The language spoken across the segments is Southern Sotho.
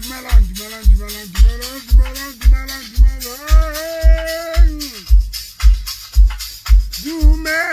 dumelang, dumelang, dumelang, dumelang, dumelang, dumelang, dumelang. Dumelang.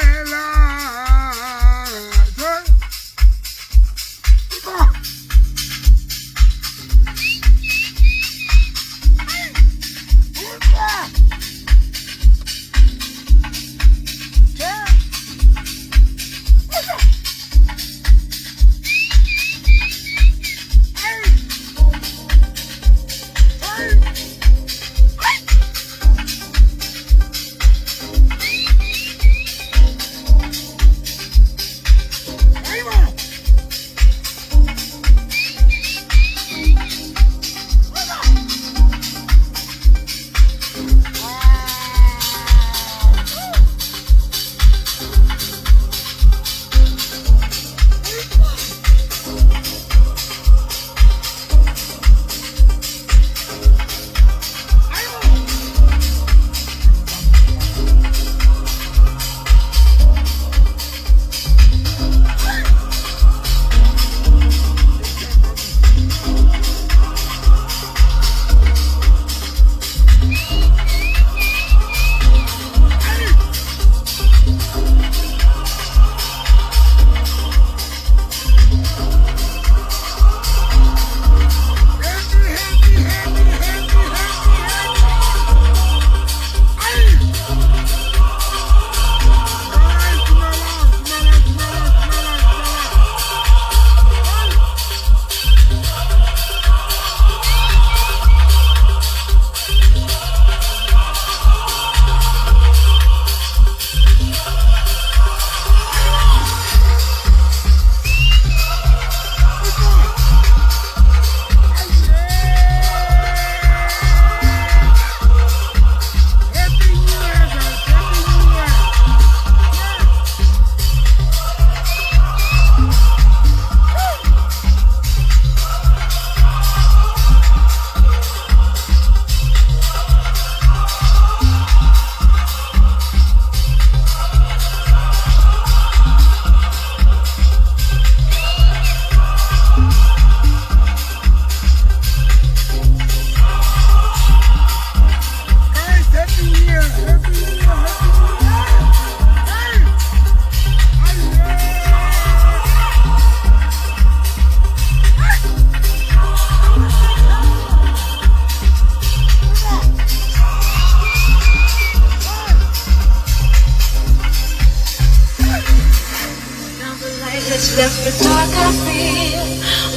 Left the dark I feel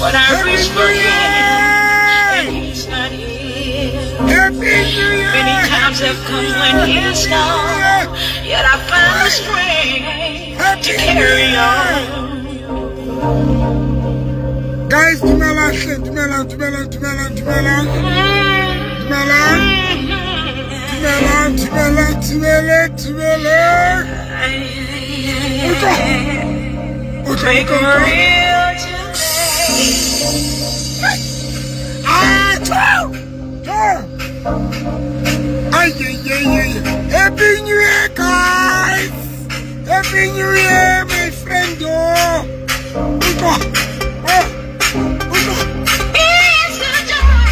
when I reach for him, and he's not here. Many times have come when he's gone, yet I find the strength to carry on. Guys, dumelang, dumelang, dumelang, dumelang, dumelang, dumelang, dumelang, dumelang, dumelang, dumelang. Make it real today. Ah, two, two. Ay, ay, ay, ay. Happy New Year, guys. Happy New Year, my friend. Oh, oh, oh. It's the joy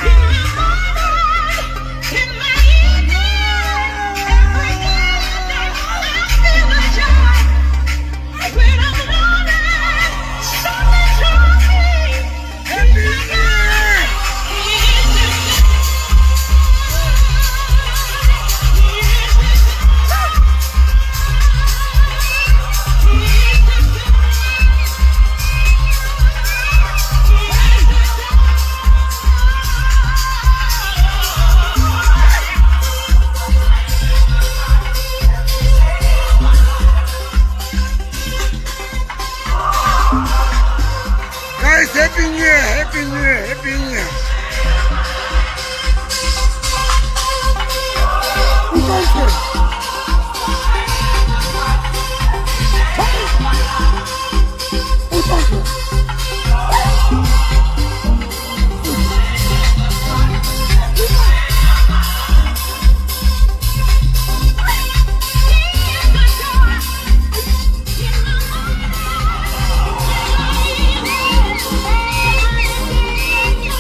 in my heart, in my ear. Every day I feel the joy. When I'm lonely, something draws me. Happy New Year! Guys, Happy New Year, Happy New Year, Happy New Year. Thank you.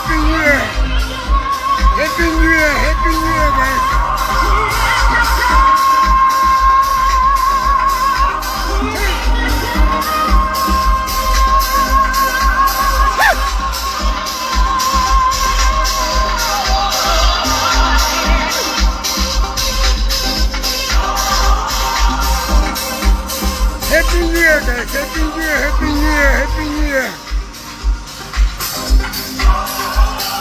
Happy New Year. Happy New Year. Happy New Year, guys. Happy New Year, guys. Happy New Year. Happy New Year. Happy New Year.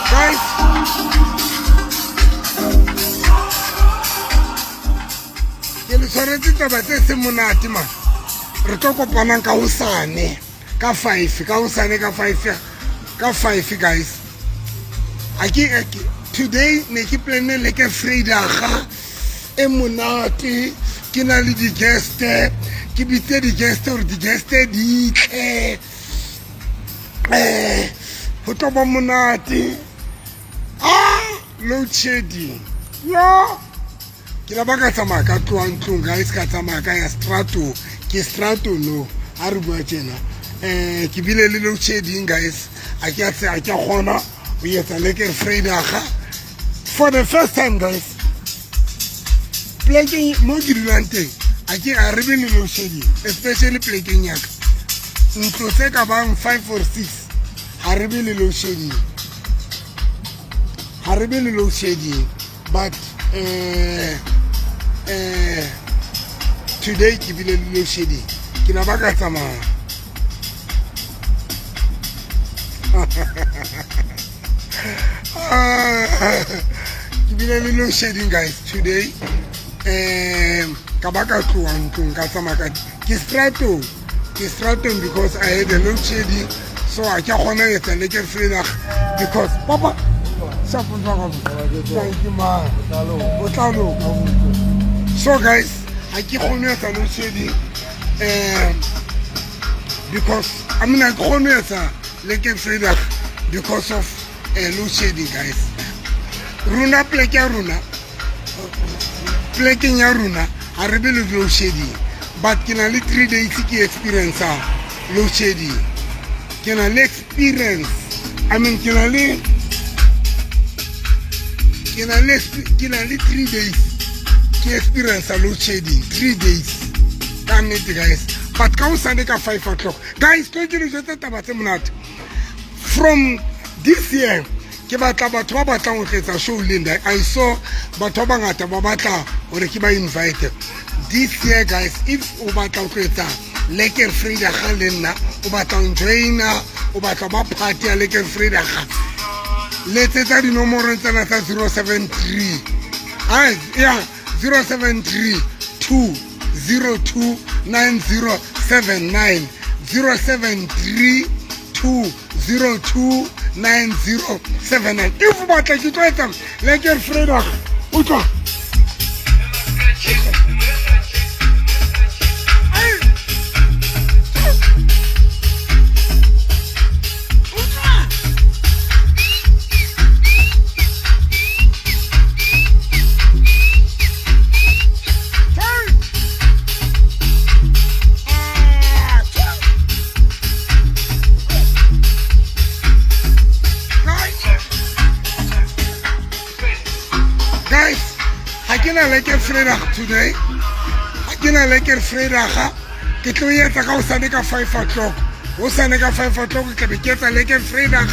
Guys, ke le tshwaretse taba tse seng monate man. Re tlo kopanang ka hosane ka 5, ka hosane ka 5, ka 5 guys. Today ne ke planne le ke Vrydag e monate, ke na le di-guest, ke bitse di-guest hore di-guest di tle. Ho tlo ba monate. Load shedding. Yo! Ke la ba ka tsamaya ka tloha ntlong, guys, ka tsamaya ka ya strato. Ke strato no, ha re bua tjena. Ke bile le load shedding, guys. A ke a kgona ho etsa lekker Vrydag. For the first time, guys. Plekeng mo ke dulang teng, a ke a re be le load shedding, especially plekeng ya ka. Ntlo tse ka bang 5 or 6 ha re be le load shedding. Ha re be le load shedding, but today ke bile le load shedding. Ke na ba ka tsamaya. Ke bile le load shedding, guys, today. Ka ba ka tloha ntlong ka tsamaya ka ke stratong. Ke stratong because I had a load shedding, so a ke kgona ho etsa lekker Vrydag because papa thank you, man. So guys, I keep on load shedding because I mean I kgone ho etsa lekker Vrydag because of load shedding, guys. Rona pleke ya rona, plekeng ya rona ha re be le load shedding, but ke na le 3 days ke experience load shedding. Ke na le experience, I mean ke na le 3 days ke experience load shedding, 3 days ka nnete, guys. But ka hosane ka 5 o'clock, guys, tlo ke le jwetsa taba tse monate. From this year ke batla batho ba batlang ho tletsa show le nna. I saw batho ba bangata ba batla hore ke ba invite this year, guys. If o batla ho tletsa lekker Vrydag le nna, o batla ho joina, o batla ba party ya lekker Vrydag, letsetsa dinomoro tsena tsa 073 073 202 9079, 073 202 9079. If o batla ke tlo etsa lekker Vrydag, utlwa. Lekker Vrydag today. Ha ke na lekker Vrydag, ke tlo etsa ka hosane ka 5 o'clock. Hosane ka 5 o'clock ke be ke etsa lekker Vrydag.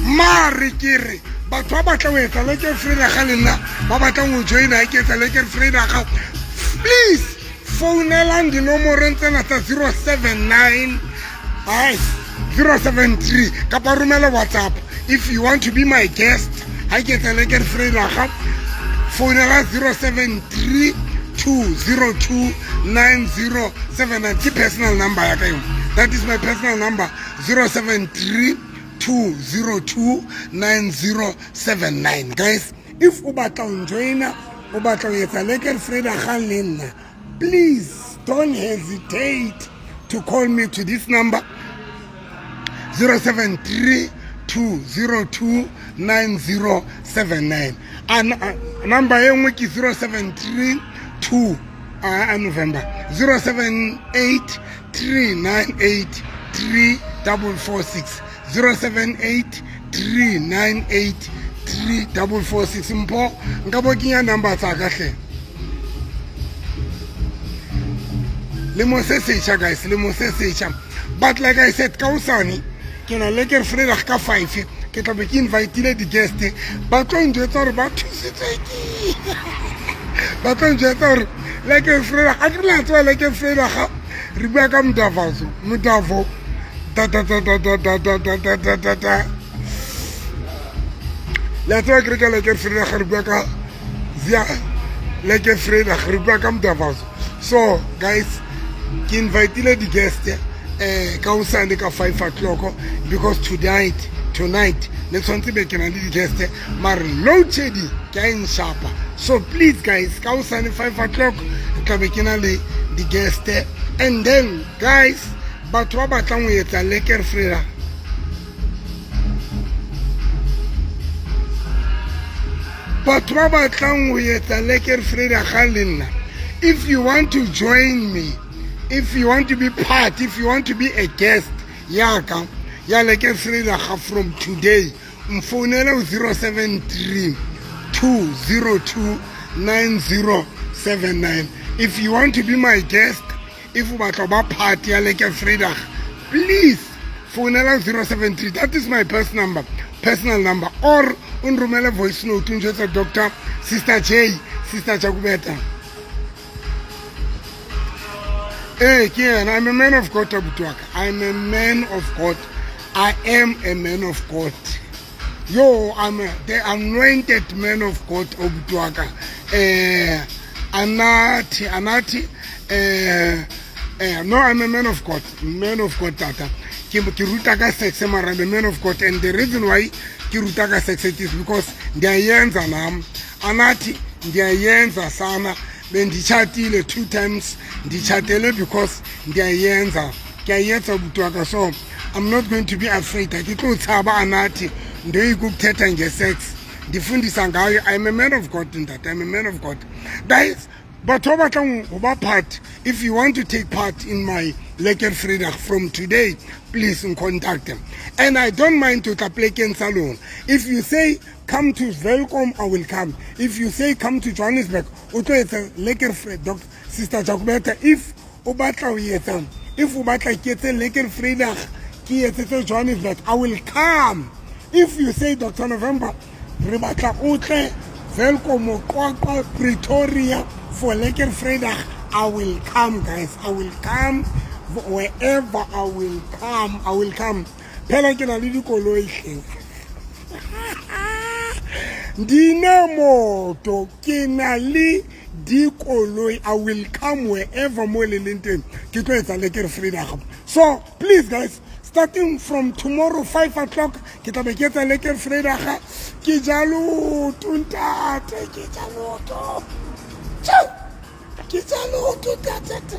Mare ke re batho ba batla ho etsa lekker Vrydag le nna, ba batlang ho joina ke etsa lekker Vrydag, please founelang dinomorong tsena tsa 079 073 kapa romela WhatsApp if you want to be my guest. Ha ke etsa lekker Vrydag, founela 073 202 9079. Ke personal number ya ka eo. That is my personal number, 073 202 9079. Guys, if o batla ho joina, o batla ho etsa lekker Vrydag le nna, please don't hesitate to call me to this number, 073 202 9079. And number e nngwe ke 073 2 November 078 398 3446, 078 398 3446. Mpho nka bo kenya number tsa ka hle. Lemo se setjha guys, lemo se setjha. But like I said, ka hosane ke na lekker Vrydag ka 5 ke tla be ke invitile di-guest ba tlo njwetsa hore ba thusitswe ke ba tlo njwetsa hore lekker Vrydag a ke la tswa lekker Vrydag re bua ka modavazo modavo ta ta ta ta ta ta ta ta ta ta ta ta la tswa ke re ka lekker Vrydag re bua ka zia lekker Vrydag re bua ka modavazo. So guys, ke invitile di-guest ka hosane ka 5 o'clock because tonight le tshwanetse be ke na le di-guest mare load shedding ke a e nshapa. So please guys, ka hosane 5 o'clock re tla be ke na le di-guest. And then guys, batho ba batlang ho etsa lekker Vrydag, batho ba batlang ho etsa lekker Vrydag ga le nna, if you want to join me, if you want to be part, if you want to be a guest yaka ya lekker Vrydag from today, mfounele 073 202 9079. If you want to be my guest, if you batla ba part ya lekker Vrydag, please founela 073. That is my personal number, or o nromele voice note o njwetsa Dr. Sister J, Sister Jakubeta. Hey, Kian, I'm a man of God, abuti wa ka. I'm a man of God. I am a man of God. Yo, I'm the anointed man of God, abuti wa ka. Anati, no, I'm a man of God. Man of God, tata. Ke ruta ka sex, mara I'm a man of God. And the reason why ke ruta ka sex it is because ndiyayenza nam. Anati, ndiyayenza sana. Bendichatile 2 times, ndichatele because ndiyayenza. Ke a etsa abuti wa ka. So I'm not going to be afraid. Ke tlo tshaba anathi ndoyikukuthetha nge-sex. Ndifundisa ngayo. I'm a man of God in that. I'm a man of God. Guys, batho ba batlang ho ba part, if you want to take part in my lekker Vrydag from today, please contact them. And I don't mind to tla plekeng tsa lona. If you say come to Welkom, I will come. If you say come to Johannesburg, o tlo etsa lekker Vrydag, Sister Jakubeta. If o batla ho etsa, if o batla ke etse lekker Vrydag, ke etsetse Johannesburg, I will come. If you say Dr. November, re batla o tle Welkom, Qwaqwa, Pretoria for lekker Vrydag, I will come, guys. I will come wherever I will come. I will come. Phela ke na le dikoloi hleng. Dinemoto ke na le dikoloi. I will come wherever mo le leng teng. Ke tlo etsa lekker Vrydag. So please guys, starting from tomorrow 5 o'clock, ke tla be ke etsa lekker Vrydag. Ke jalo ntate, ke jalo to. Ke jalo ntate.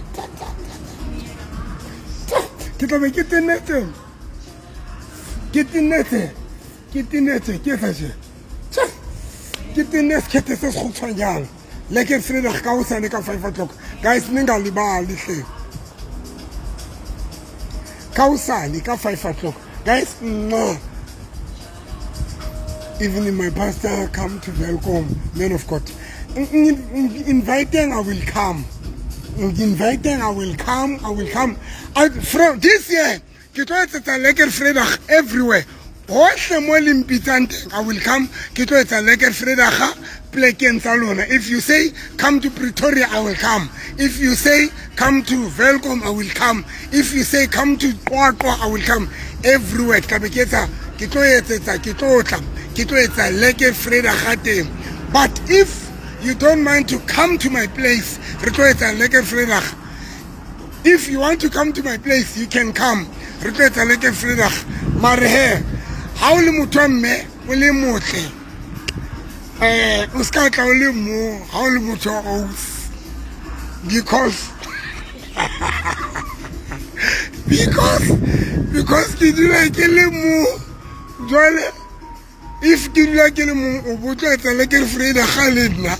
Ke tla be ke tenetse. Ke tenetse. Ke tenetse, ke etsa tje. Ke tenetse khethe se sekgutshwanyane. Lekker Vrydag ka hosane ka 5 o'clock. Guys, ningalibali hle. Ka hosane ka 5 o'clock. Guys, no. Even if my pastor come to welcome, man of God. Inviting, I will come. Inviting, I will come. I will come. From this year, ke tlo etsetsa lekker Vrydag everywhere. Hohle mo le mpitsang teng, I will come. Ke tlo etsa lekker Vrydag plekeng tsa lona. If you say come to Pretoria, I will come. If you say come to Welkom, I will come. If you say come to Qwaqwa, I will come. Everywhere. Ke tla be ke etsa, ke tlo etsetsa, ke tlo tla, ke tlo etsa lekker Vrydag teng. But if you don't mind to come to my place, re tlo etsa lekker Vrydag. If you want to come to my place, you can come. Re tlo etsa lekker Vrydag. Mare he, ha o le motho wa mme, o le motle. O ska tla o le mo, ha o le motho wa ausi. Because because ke dula ke le mo. Jwale if ke dula ke le mo, o bo tlo etsa lekker Vrydag ga le nna.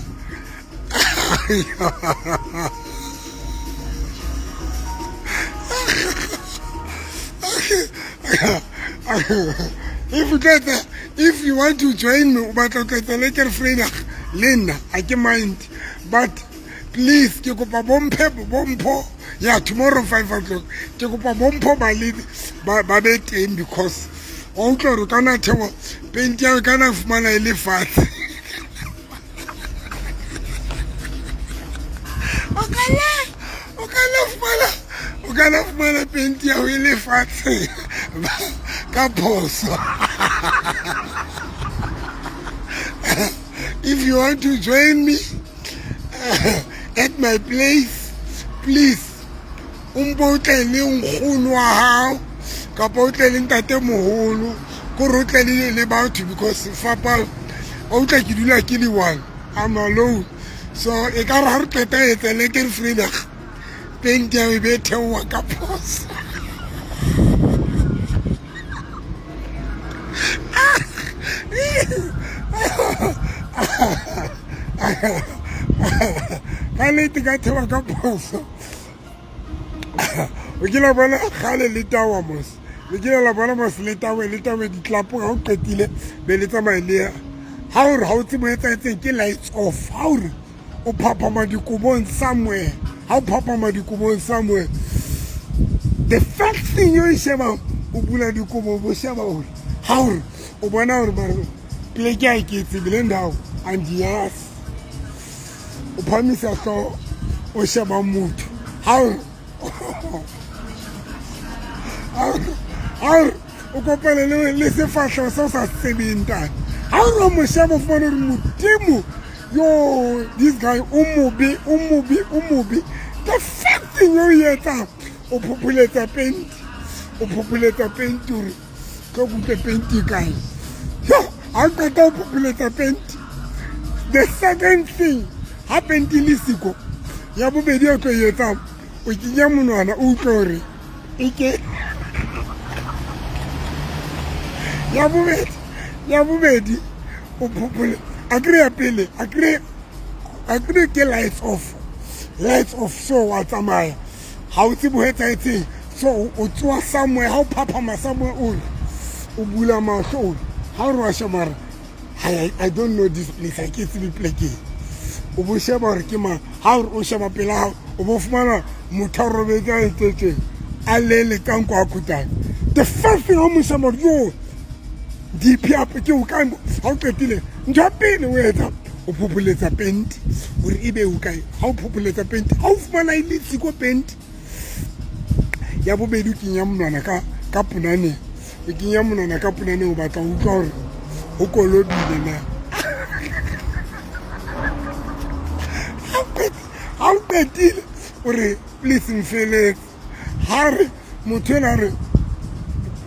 If you want to join me, o batla ho tla lekker Vrydag le nna, a ke mind. But please, ke kopa bompho. Yeah, tomorrow 5 o'clock. Ke kopa bompho ba le ba be teng because o utlwa hore kana thewa penti ya kana fumana e le fatshe. O kana fumana penti ya e le fatshe ka phoso. If you want to join me at my place, please, umpo o tle le nkgono wa hao kapa o tle le ntate moholo, kore o tle le batho because fapa o tla ke dula ke le one, I'm alone. So e ka re ha re qeta etsa lekker Vrydag, penti ya e be theoha ka phoso. Ka nnete ka theoha ka phoso. O kile wa bona kgale le tawa mos. Le kile la bona mos le tawe ditlapo ha o qetile be le tsamaye le ya. Ha o re ha o tsebe ho etsahetseng ke lights off. Ha o re o phaphama dikobong somewhere. Ha o phaphama dikobong somewhere. The first thing you sheba o bula dikobo bo sheba hore ha o re o bona hore ba re pleke ha e ke tsebe le ndao and yes. O phamisa hlooho o sheba motho. Ha o re o kopane le sefahleho se o sa tsebeng ntate. Ha o re o mo sheba o fumane hore Modimo, yo, this guy o mobe. The first thing o e etsang, o phopholetsa penti hore tlo kutlwe penti kae. Yo, ha o qeta ho phopholetsa penti, the second thing, ha penti le siko, ya bobedi o tlo e etsang, o kenya monwana o utlwe hore e ke ya bobedi o phophole akre ya pele akre ke lights off so wa tsamaya ha o tsebe ho etsahetseng. So o tsoa somewhere, ha o phaphama somewhere o bula mahlo ha o re wa sheba I don't know this place, ha ke tsebe pleke. O bo sheba hore ke mang, ha o sheba pela hao o bo fumana motho a robetse a etsetseng a lele ka nko a khutang. The first thing o mo sheba yo DP up ke o kae ha o qetile ntho ya pele o etsa o phopholetsa penti hore ebe o kae. Ha o phopholetsa penti ha o fumana e le tsiko penti ya bobedi o kenya monwana ka ponaneng, o kenya monwana ka ponaneng o batla ho utlwa hore ho kolobile na. Ha o qetile o re please mfeletse. Ha re motho ena re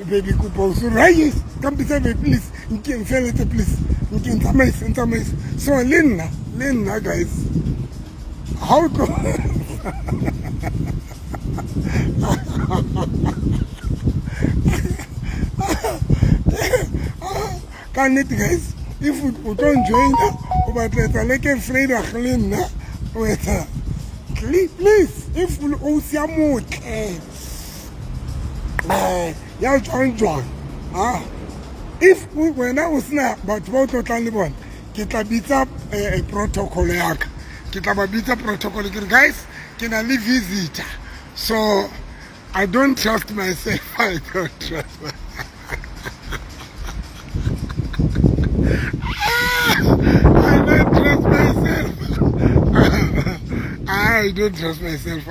baby kopa o so re ka mpitsa baby please nke mfeletse please nke ntsamaise. So le nna guys ha o tlo ka nnete guys, if o tlo njoina o batla etsa lekker Vrydag le nna o etsa please, if o sia motle ya jwang ah, if wena o sena batho ba o tlotlang le bona, ke tla bitsa protocol ya ka. Ke tla ba bitsa protocol ke re guys ke na le visitor, so I don't trust myself. I don't trust myself. I don't trust myself. I don't trust myself.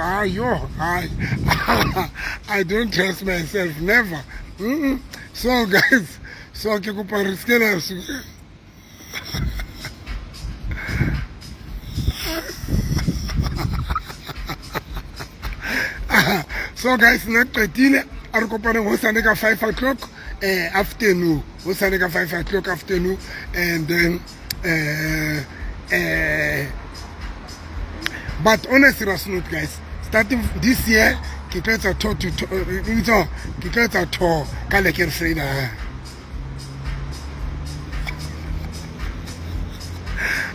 I don't trust myself. Never. Mm-mm. So guys, so ke kopa re se la So guys, nna qetile a re kopaneng hosane ka 5 o'clock afternoon. Hosane ka 5 o'clock afternoon, and then but on a serious note guys, starting this year ke tlo etsa tour to ke tlo etsa tour ka lekker Vrydag.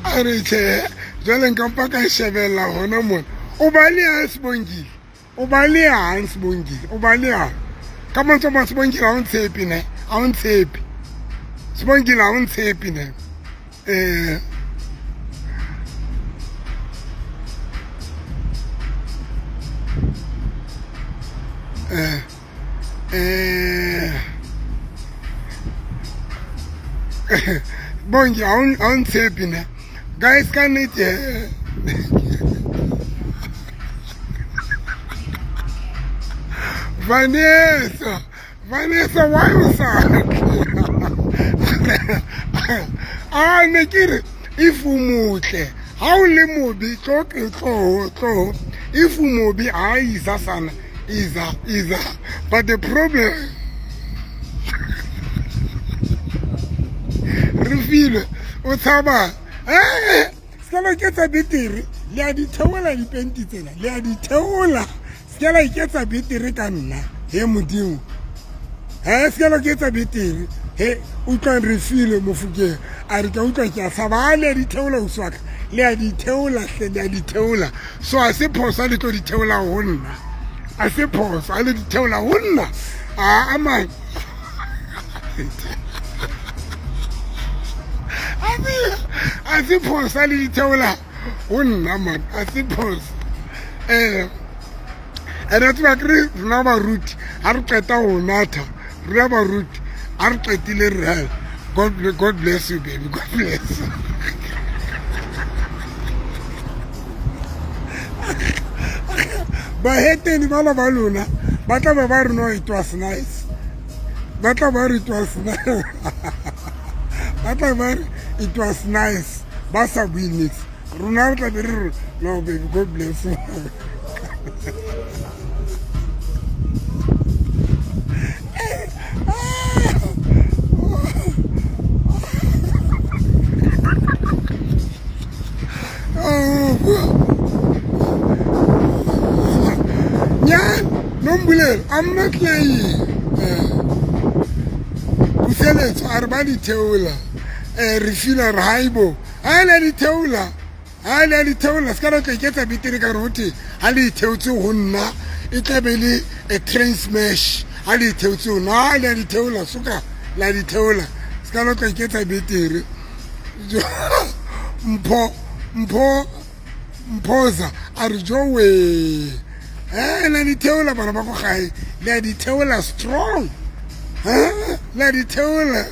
A re tjhe, jwale nka mpa ka shebella hona mona. O baleha Sibongile. O baleha Sibongile. O baleha. Ka mantswe a mang Sibongile ha o ntshepe ne. Ha o ntshepe. Sibongile a o ntshepe ne. Bongi a o ntshepe ne. Guys, ka nnete Vanessa, why o sa a ne ke re if o motle ha o le mobe tlo tlo if o mobe a iza sana iza but the problem re file o tshaba se la iketsa betere le a di theola dipenti tsena le a di theola se la iketsa betere ka nna he modimo se la iketsa betere he utlwa re file mofukeng a re ka utlwa ke a tshaba le a di theola o swaka le a di theola hle le a di theola so a se phoso le tlo di theola ho nna a se phoso a le di theola ho nna a man a se phoso a le di theola ho nna man a se phoso ene tseba ke re rona baruti ha re qeta ho natha rona baruti ha re qetile re God bless you baby, God bless you. Baheteni bana ba lona ba tla ba re no it was nice. Ba tla ba re it was nice. Ba tla ba re it was nice. Ba sa bue nix. Rona re tla be re no baby, God bless you. I'm not lying. Puseletso a re ba di theola. Re feel re haibo. Ha le di theola. Ha le di theola ska re tla iketsa betere ka re hote ha le theotse ho nna e tla be le a train smash. Ha le theotse ho nna ha le di theola suka la di theola. Ska re tla iketsa betere. Mpho Mphoza a re jowe. La di theola bana ba ko gae le di theola strong la di theola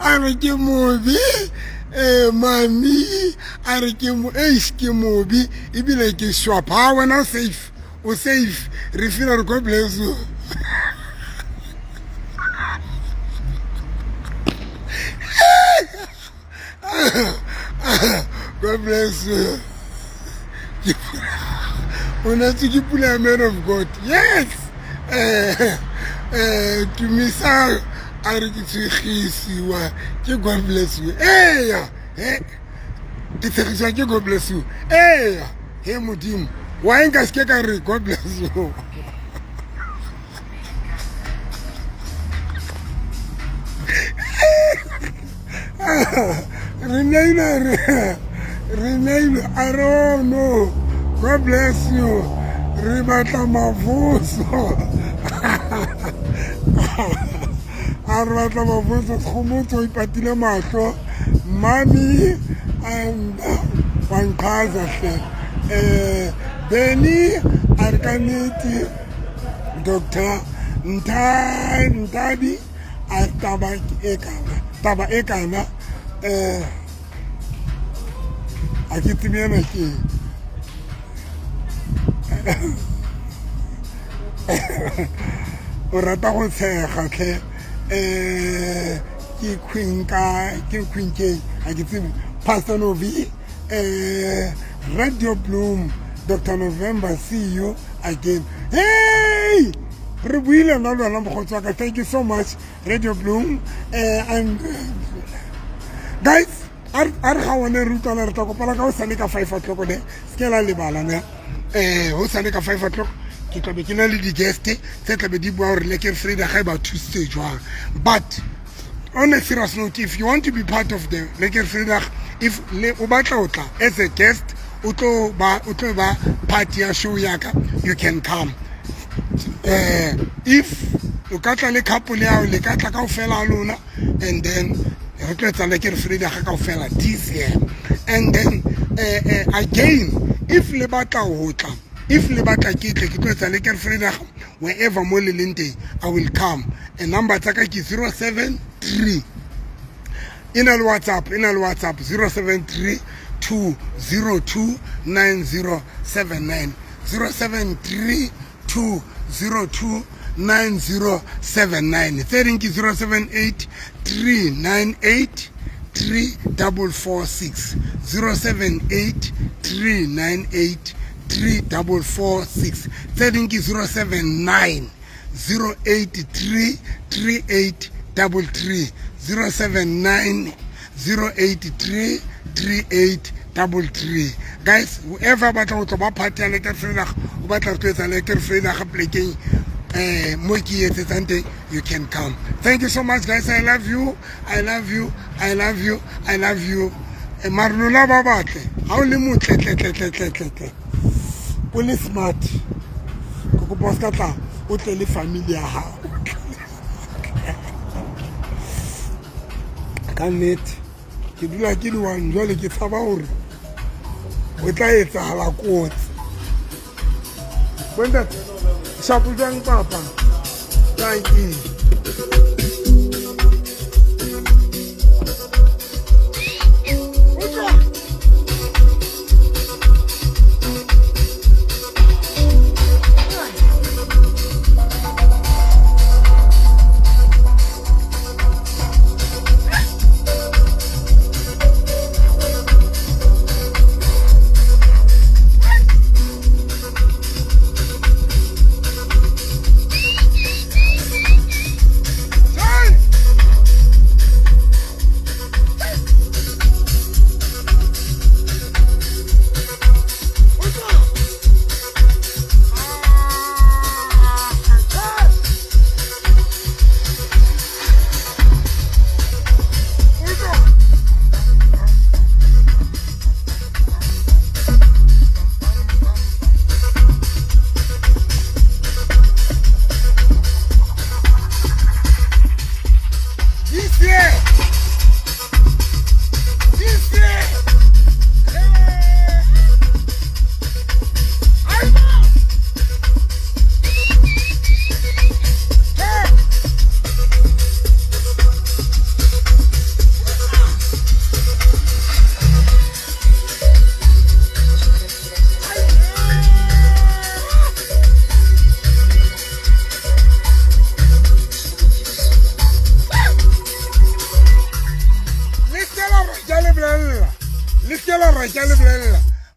a re ke mobe mami a re ke mo ke mobe ebile ke swap ha wena safe o safe re feel re God bless you. God bless you. Pula man of God. Yes. To me, sir, God bless you. Hey, God bless you. Hey, hey, Mudim. Why God bless you? Rename, I don't know. God bless you. Rebata Mavuso. Arata Mavuso, Khomotso ipatile mahlo. Mami and Wankaza. Benny Arkaneti, Dr. Ntabi, Taba Ekana. Taba Ekana. A ke tsebe ena ke o rata go tshega tlhe ke queen ka ke queen ke a ke tsebe Pastor Novi Radio Bloom Dr. November, see you again. Hey, re buile nna le wena mokgotsi wa ka. Thank you so much Radio Bloom. And guys, a re ga one re utlwana re tla kopana ka hosane ka 5 o'clock ne se ke la lebala ne hosane ka 5 o'clock ke tla be ke na le di-guest tse tla be di bua gore Lekker Vrydag ga e ba thusitse jwang. But on a serious note, if you want to be part of the Lekker Vrydag, if o batla o tla as a guest o tlo ba party ya show ya ka, you can come. If o ka tla le couple ya le ka tla kaofela lona, and then re tlo etsa lekker vrydag kaofela this year. And then again, if le batla ho tla, if le batla ke tle ke tlo etsa lekker vrydag wherever mo le leng teng, I will come. And number tsa ka ke 073, ina le WhatsApp, 073 202 9079, 073 202 9079. Tse ding ke 078 398 3446, 078 398 3446. Tse ding ke 079 083 3833, 079 083 3833. Guys, whoever batla ho tlo ba party ya lekker vrydag, o batla re tlo etsa lekker vrydag plekeng mo ke etsetsang teng, you can come. Thank you so much, guys. I love you, I love you, I love you, I love you. Mare lona ba batle ha o le motle tle tle tle tle tle tle, o le smart, ke kopa o ska tla o tle le family ya hao. Ka nnete ke dula ke le one jwale, ke tshaba hore o tla etsahala kotsi. Bontate shapo jwang papa? Thank you.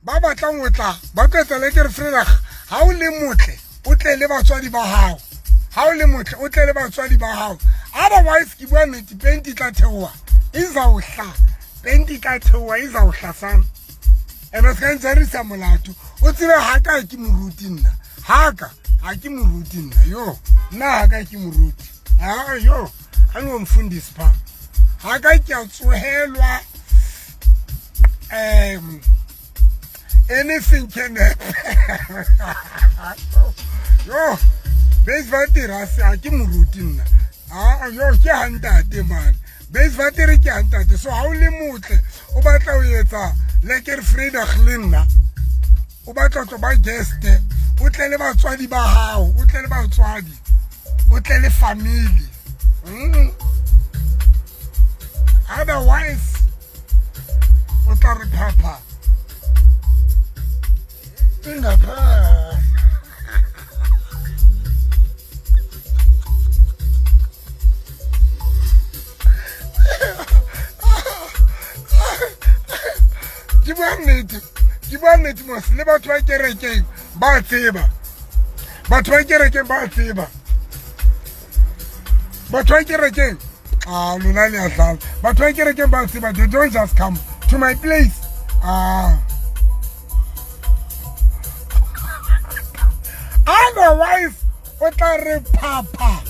Ba batlang ho tla ba tlo etsa lekker vrydag. Ha o le motle o tle le batswadi ba hao, ha o le motle o tle le batswadi ba hao. Otherwise ke bua nnete, penti tla theoha izawuhla, penti tla theoha izawuhla sana. Ene se ka ntjarisa molato, o tsebe ha ka ke moruti nna, ha ka ha ke moruti nna, yo nna ha ka ke moruti, ha yo ha no mfundisi pha, ha ka ke a tsohelwa. Anything can happen. Yo, base vatera se ha ke moruti nna. Ah, yo ke hantate man. Base vatera ke hantate. So ha o le motle, o batla ho etsa lekker vrydag le nna. O batla tlo ba guest, o tle le batswadi ba hao, o tle le batswadi, o tle le family. Otherwise o tla re phapha. Ingapha. Ke bua nnete mos, le batho ba kerekeng ba tseba. Batho ba kerekeng ba tseba. Batho ba kerekeng, ah, lona le a dlala. Batho ba kerekeng ba tseba, they don't just come to my place. Ah. Otherwise, o tla re phapha.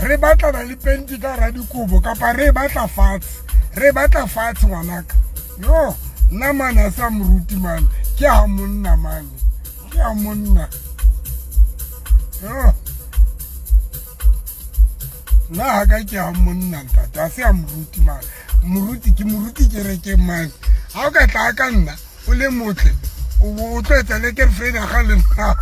Re batlana le penti ka hara dikobo kapa re batla fatshe. Re batla fatshe ngwanaka. Yo, Nna mane a sa moruti mane. Ke ha monna mane. Ke ha monna. Yo. Nna ha ka ke ha monna ntate. A se a moruti mane. Moruti ke moruti kerekeng mane. Ha o ka tla ka nna o le motle o tlo etsa le ke Freda ga le nna.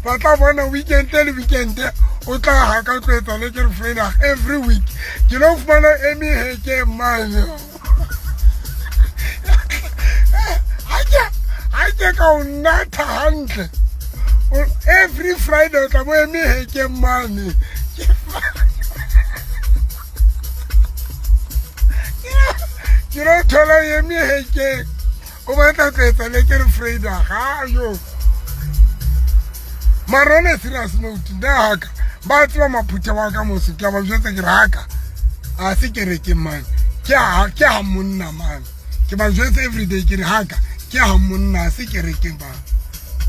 Ba tla bona weekend le weekend o tla ha ka tlo etsa le ke Freda every week. Ke lo fumana eme heke mane. Ha ke ka o natha hantle. Every Friday o tla bo eme heke mane. Ke lo thola eme heke. O batla tlo etsa le ke Freda ga yo. Mara serious note nna haka ba tseba maphutha wa ka moso ke a ba jwetsa ke re haka a se kerekeng mane ke ha monna mane ke ba jwetsa everyday ke re haka ke ha monna a se kerekeng ba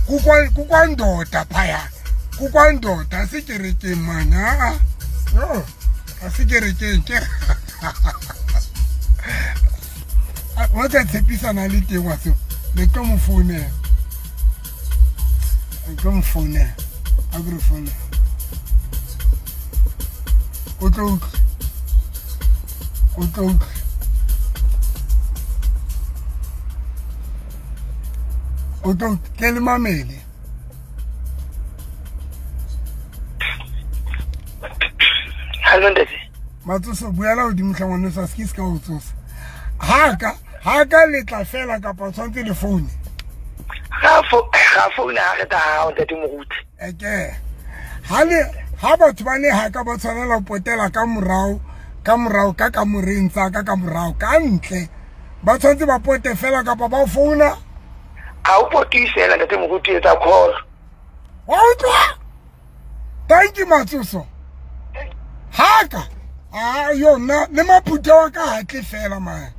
kukwa ndoda phaya kukwa ndoda a se kerekeng mane a no a se kerekeng ke wa tla tshepisana le teng wa seo le tlo mo founela. Come phone, I go phone. O tlo ke le mamele. Hello ntate. Matsoso buela hodimo tlha ngwana sa se ka o tsosa. Ha ka letla fela kapa tshwantse le phone. Ga phone ha re ta ha ntate moruti. Eke. Ha batho ba le ha ka ba tshwanela ho potela ka morao ka kamoreng tsa ka morao ka ntle. Ba tshwantse ba pote fela kapa ba founa. Ha o pote fela ntate moruti etsa call. Wa utlwa? Thank you Matsoso. Haka. Ah yona le maphutha wa ka hatle fela man.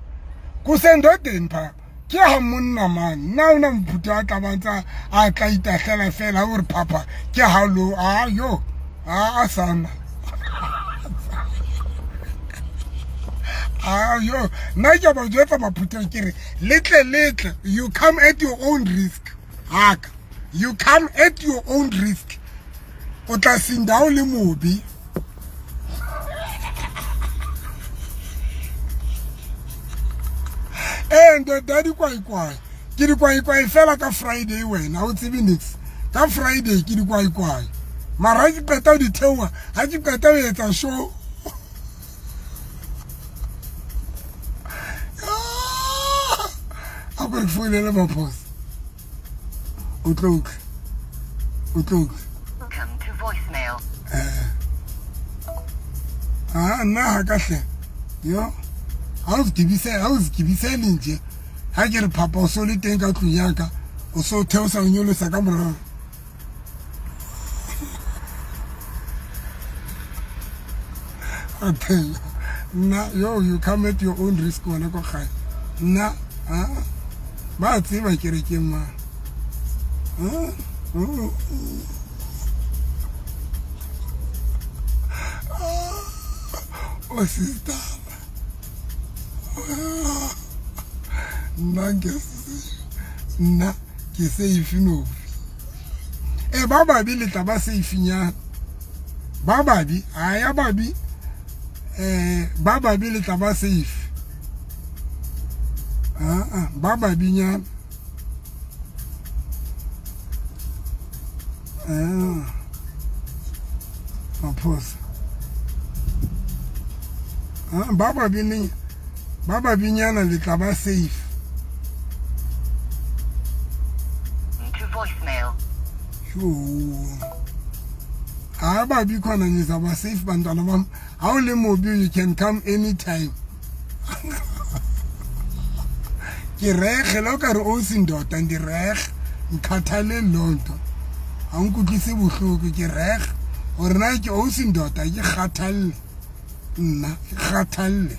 Kusendodeni pha. Ke ha monna man nna ona mphutha a tla bantsa a tla itahlela fela o re papa ke ha lo a yo a sana a yo nna ke ba jwetsa maphutha ke re letle you come at your own risk haka you come at your own risk o tla sinda o le mobi. And daddy kwai kwai ke di kwai kwai fela ka Friday wena o tsebe nix ka Friday ke di kwai kwai mara ke qeta di theoha ha ke qeta ho etsa show a go founele maphosa o tlo Welcome to voicemail. Ah nna ha ka hle yo ha o zikibisele nje ha ke re papa o so le teng ka tlung ya ka o so theosa o nyolosa ka morao. Nna yo you come at your own risk wena ko gae nna ba tseba kerekeng ma o sister nna ke safe no e ba babi le tla ba safe nyana ba babi a ya babi ba babi le tla ba safe ba babi nyana maphosa ba babi ne ba binyana le tla ba safe. To voicemail. Yo. Ha ba bi khona nyiza ba safe bantwana bam. Ha o le mobi you can come anytime. Ke rege la ka re o sindota ndi rege nkhathale lonto. Ha nkutlwise bohloko ke rege hore na ke o sindota ke kgathalle. Nna ke kgathalle.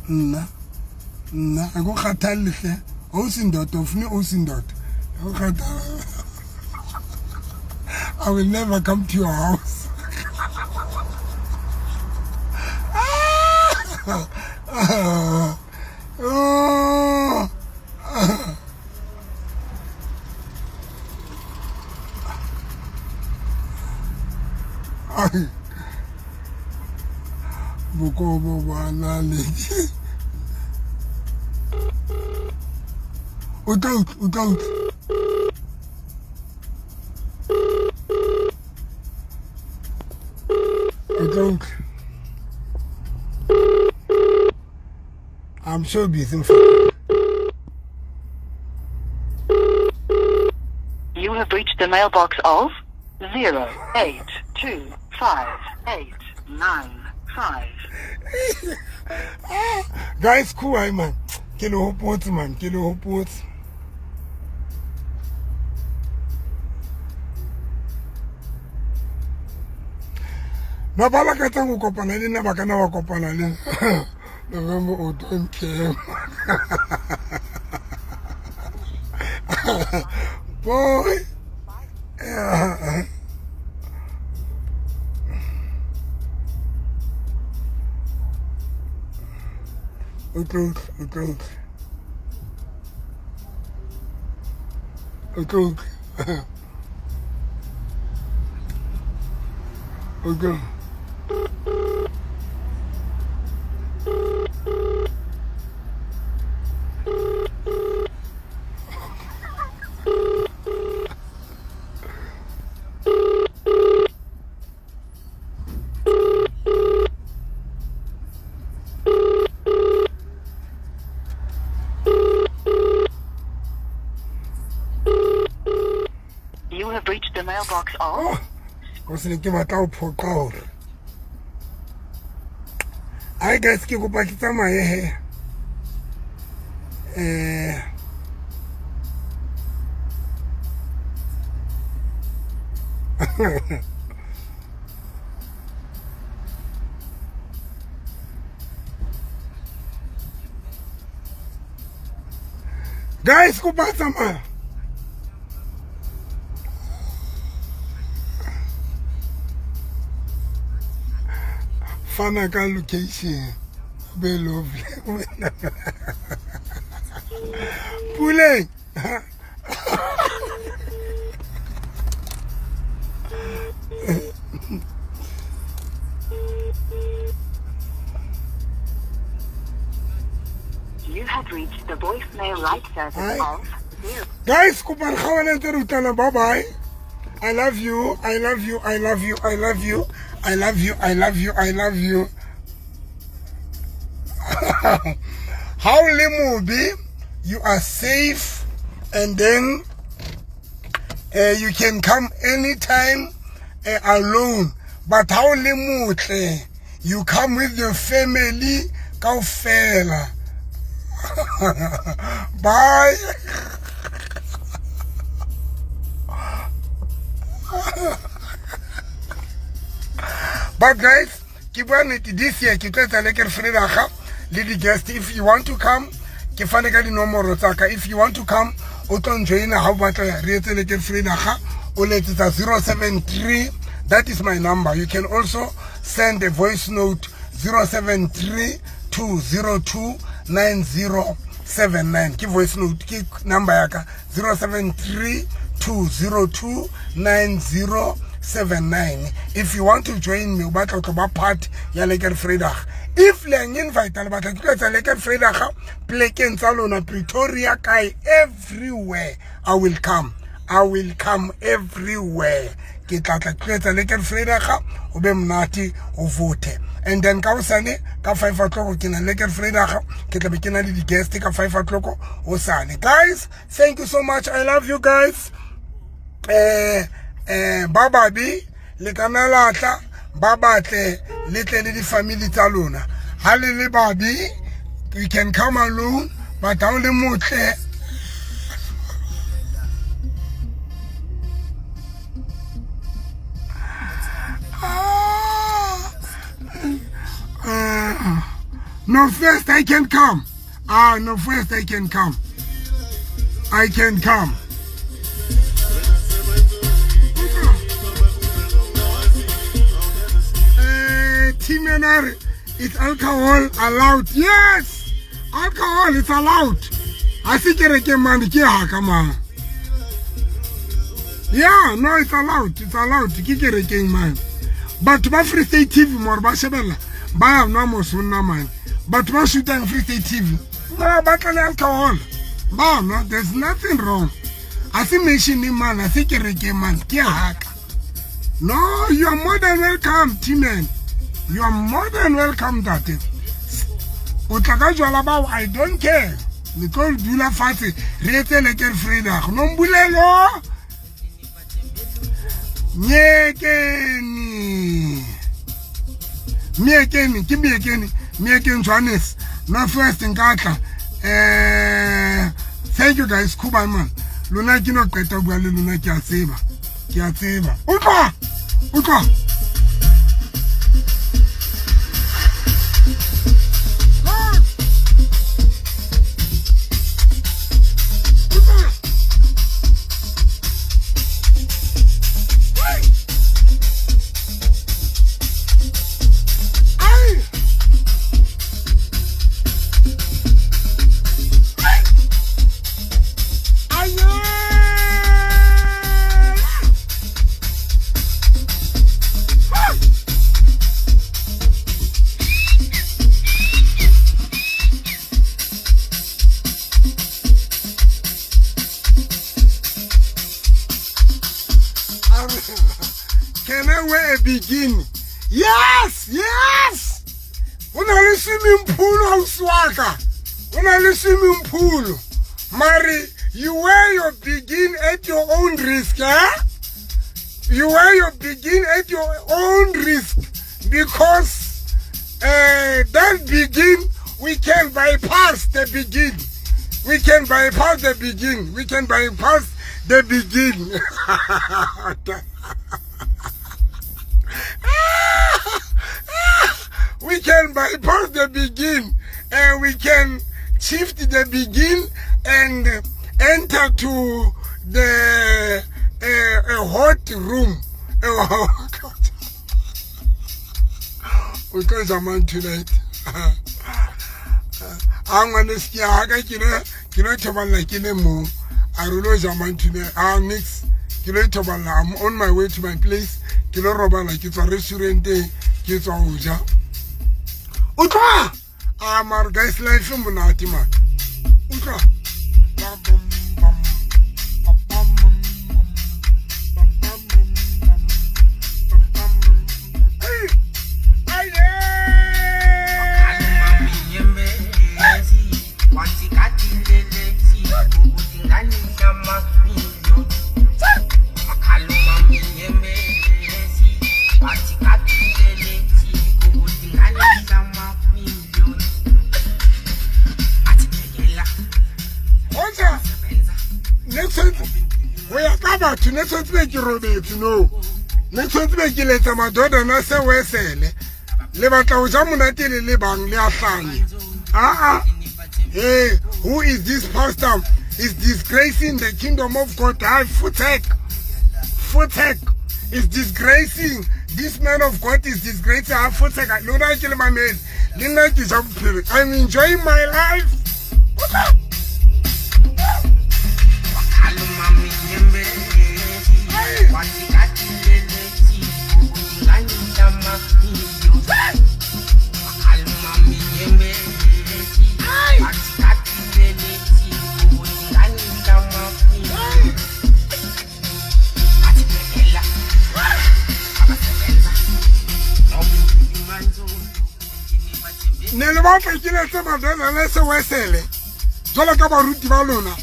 Nna a go kgathalle hle o sindota o fune o sindota o kgathalle. I will never come to your house. Bokobo ba na le. O tla utlwa, o tla utlwa. O tla utlwa. I'm so busy. You have reached the mailbox of 0 8 2 5 8 9 5. Guys, cool, I man. Ke le hopotse man, ke le hopotse. Ba ba lakatsang ho kopana le nna ba kana ba kopana le November o don't care. Boy. O tlo utlwa, o tlo utlwa. O tlo utlwa. O tlo. You have reached the mailbox of Oh, go se ne ke batla ho phoqa hore. Ai guys, ke kopa ke tsamaye he. Guys, kopa tsamaya. Fana ka location. Be lovely. Puleng. You have reached the voicemail light service Hi. of 0. Guys, kopa re kgaohane ntse re utlwana. Bye bye. I love you. I love you. I love you. I love you. I love you. I love you. I love you. How le mobe, you are safe, and then you can come anytime alone. But how le motle, you come with your family kaofela. Bye. But guys, ke bua nnete, this year ke tlo etsa Lekker Vrydag le di-guest. If you want to come, ke fane ka dinomoro tsa ka. If you want to come, o tlo njoina ha o batla re etse Lekker Vrydag, o letsetsa 073. That is my number. You can also send a voice note 073 202 9079. Ke voice note, ke number ya ka 073 202 9079. If you want to join me, o batla ho tlo ba part ya Lekker Vrydag. If le yang invite le batla ke tlo etsa Lekker Vrydag plekeng tsa lona, Pretoria, kae, everywhere I will come. I will come everywhere. Ke tla tla ke tlo etsa Lekker Vrydag, o be monate, o vote. And then ka hosane ka 5 o'clock ke na Lekker Vrydag, ke tla be ke na le di-guest ka 5 o'clock hosane. Guys, thank you so much. I love you guys. Ba babe le kana la tla, ba batle le tle le di-family tsa lona. Ha le le babe, you can come alone, but ha o le motle, no, first I can come. Ah, no, first I can come. I can come. Timenar, is alcohol allowed? Yes! Alcohol is allowed. I think it man ke haka man. Yeah, no, it's allowed. It's allowed. Ke kerekeng man. Batho ba Free State TV more ba shebella. Ba nwa mosonna man. Batho ba shootang Free State TV. Ba batla le alcohol. Ba nwa, there's nothing wrong. A se mention man, a se kereke man, ke haka. No, you are more than welcome, T-man. You are more than welcome, that. O tla ka jwala bao, I don't care. Le tlo dula fatshe re etse lekker Vrydag. Nombulelo Nyekeni. Myekeni, ke Myekeni, Myekeni Johannes. No first nkatla. Thank you guys, Kuba man. Lona ke no qeta bua le lona ke a tseba. Ke a tseba. Utlwa. Utlwa. Can I wear a bikini? Yes, yes. Una le swimming pool house waka. Una le swimming pool. Mari, you wear your bikini at your own risk, eh? You wear your bikini at your own risk because that bikini, we can bypass the bikini. We can bypass the bikini. We can bypass the bikini. We can bypass the begin and we can shift the begin and enter to the a hot room. We call man tonight. I'm gonna see how I can mix. I'm on my way to my place. Kilo robala ke tswa restaurant-eng ke tswa ho ja. Utlwa! Ah, mara guys, life e monate man. Utlwa. Ne tshwanetse be ke robetse no. Ne tshwanetse be ke letsa madodana se wesele. Le batla ho ja monate le le bang le a hlanya. Ah ah. Hey, who is this pastor? Is disgracing the kingdom of God. I futek. Futek is disgracing. This man of God is disgracing. I futek. Lona ke le mamele. Le nna ke ja bophelo. I'm enjoying my life. Ne le batla ke letse madonna le se wesele jwalo ka baruti ba lona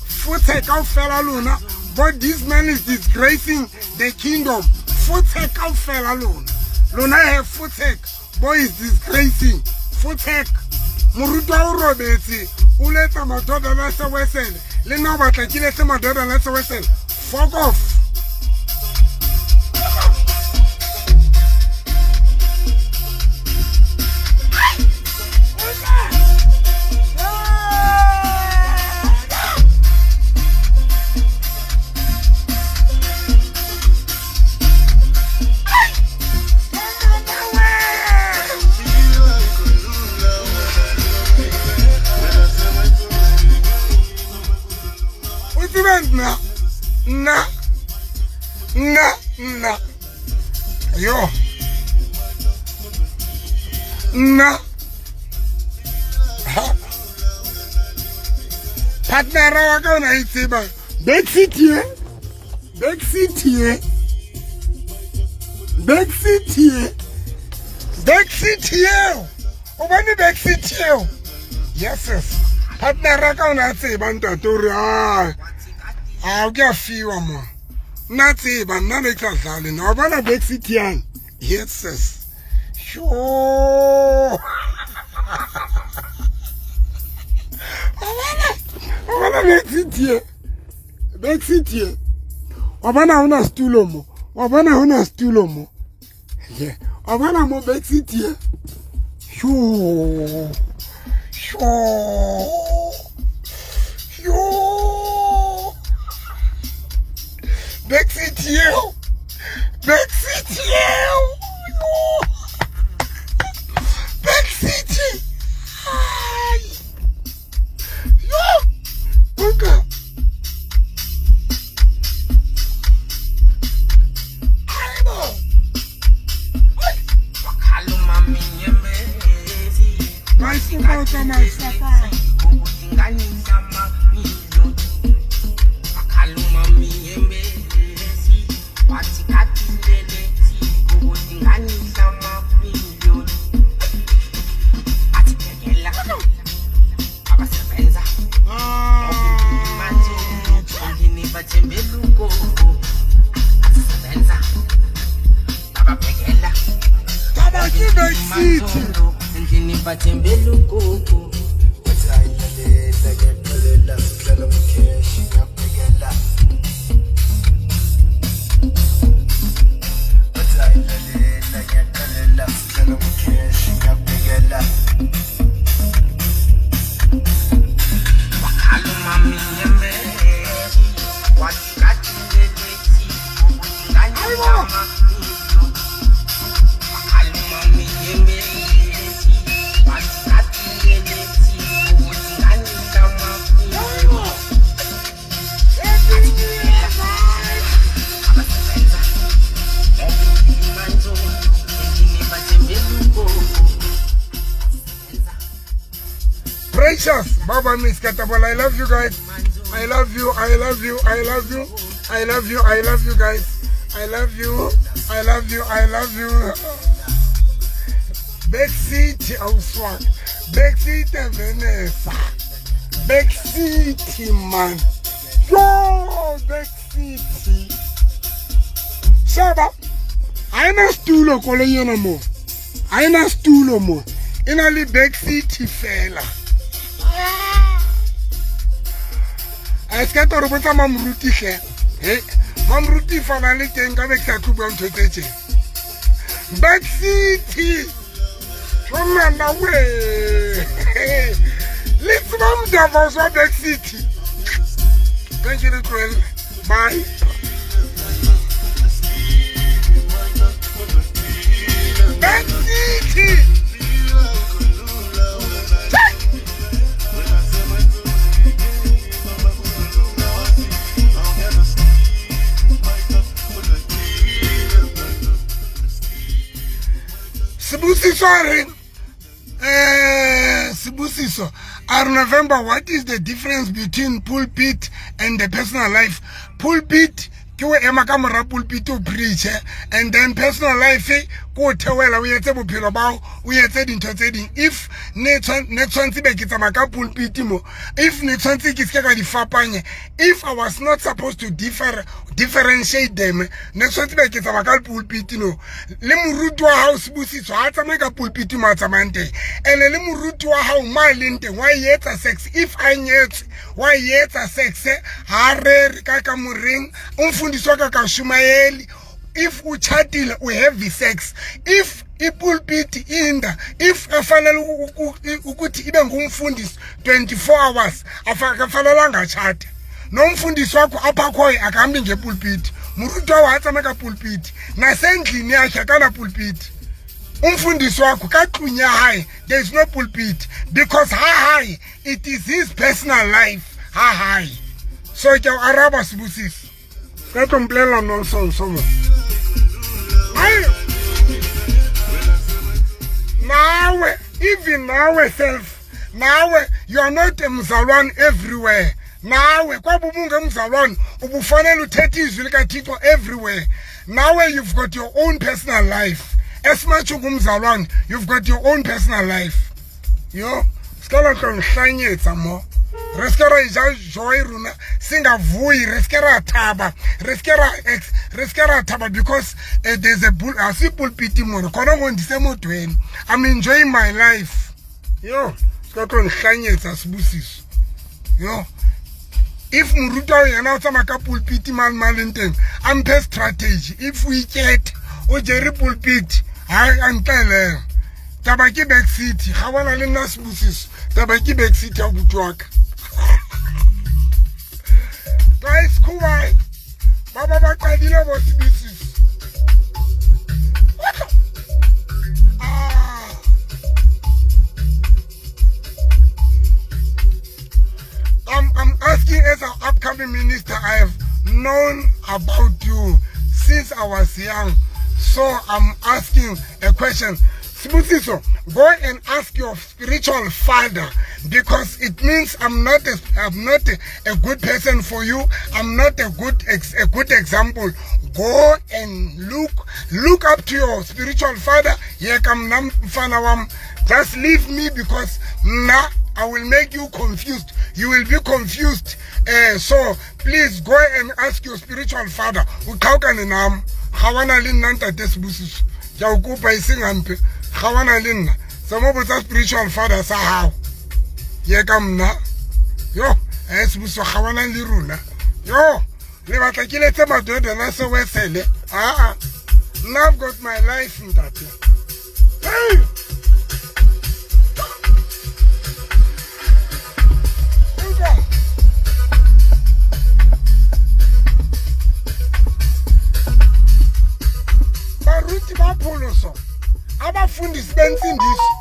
futhe kaofela lona. But this man is disgracing the kingdom. Futhe kaofela lona. Lona he futhe boy is disgracing. Futhe moruti wa o robetse o letsa madonna le se wesele le nna o batla ke letse madonna le se wesele. Fuck off. Na na na yo Nna partnera wa ka o na e tseba backseat ye, backseat ye, backseat ye, backseat yeo, o bone backseat yeo. Yes, yes. Partnera ka o na tseba ntate o re a o ke a fiwa mo. Nna tseba nna ne ke sa dlale nna, wa bona backseat yang. Yes, yes. Sure. Wa bona backseat ye, backseat ye. Wa bona hona setulo mo, wa bona hona setulo mo. Yeah. Wa bona mo backseat ye. Sure. Sure. Sure. Backseat yeo. Backseat yeo. Backseat. Ai. Yo. Buka. Precious Baba Miss Katabola, I love you guys. I love you, I love you, I love you, I love you, I love you guys. I love you, I love you, I love you. Backseat, Auswag. Backseat, Vanessa. Backseat, man. Yo, backseat. Shaba, I stulo koloi ena mo. I stulo mo. Ena le backseat fela. A se ka toro botsa mamruti hle. He, mamruti fana le teng ka be ke sa tlo bua ntho tse tje. Backseat. Ngwana we. Le tseba modava wa backseat. Thank you, tlohelle. Bye. Backseat. Sibusiso, I remember what is the difference between pulpit and the personal life? Pulpit, ke o ema ka mora pulpit o preach, and then personal life ko theoela o etse bophelo ba o etse dintho tse ding. If ne tshwantse be ke tsamaya ka pulpit mo, if ne tshwantse ke se ka di fapanye, if I was not supposed to differentiate them, ne tshwantse be ke tsamaya ka pulpit no. Le moruti wa hao Sibusiso ha tsamaye ka pulpit mo a tsamayang teng, ene le moruti wa hao ma leng teng wa etsa sex. If a nyetswe wa etsa sex, ha rere ka kamoreng, o mfundisi wa ka shumaeli. If u chatile u have sex, if ipulpit inda, if afanele ukuthi ibe ngumfundisi 24 hours, akafanelanga chat. Nomfundisi wakho apha khoyo akahambi ngepulpit. Moruti wa ha tsamaya ka pulpit, nasendlini yakhe akana pulpit. Umfundisi wakho ka tlung ya hae there is no pulpit, because ha hae it is his personal life. Ha hae. So ke o araba Sibusiso. Ka tlo mpolelela nonsense mo. Nawe, even nawe self, nawe you are not a mzalwane everywhere. Nawe kwabe ubungemzalwane ubufanele uthethe izwi likaThixo everywhere. Nawe you've got your own personal life. As much ungumzalwane, you've got your own personal life. Yo, sikala tlo mo. Re se ra ja joy rona singavuyi, re se ra thaba, re se ra thaba because there's a bull, a simple pity mona khona ngo ndisemotweni. I'm enjoying my life. Yo, se tlo nhlanyetsa Sibusiso. Yo, if moruta yena o tsamaya ka pulpit mal malenteng, amphe strategy. If we get o jere pulpit, ha antele taba ke back city ga bona le nna Sibusiso, taba ke back city ya butwaka. Guys, kuwai baba ba qadile bo Sibusiso. I'm asking as an upcoming minister, I have known about you since I was young. So I'm asking a question. Sibusiso, go and ask your spiritual father, because it means I'm not a good person for you. I'm not a good example. Go and look up to your spiritual father. Just leave me, because now I will make you confused. You will be confused. So please go and ask your spiritual father. Uqhawukane nami. Gawana le nna ntate Sibusiso. Ke a o kopa e seng hampe. Gawana le nna. Tsama botsa spiritual father sa hao. Ye ka mna. Yo, Sibusiso gawana le rona. Yo, le batla ke letse madodana se wesele. Ah ah. Now I've got my life ntate. Hey! Baruti ba pholoso, abafundisi bensindiso,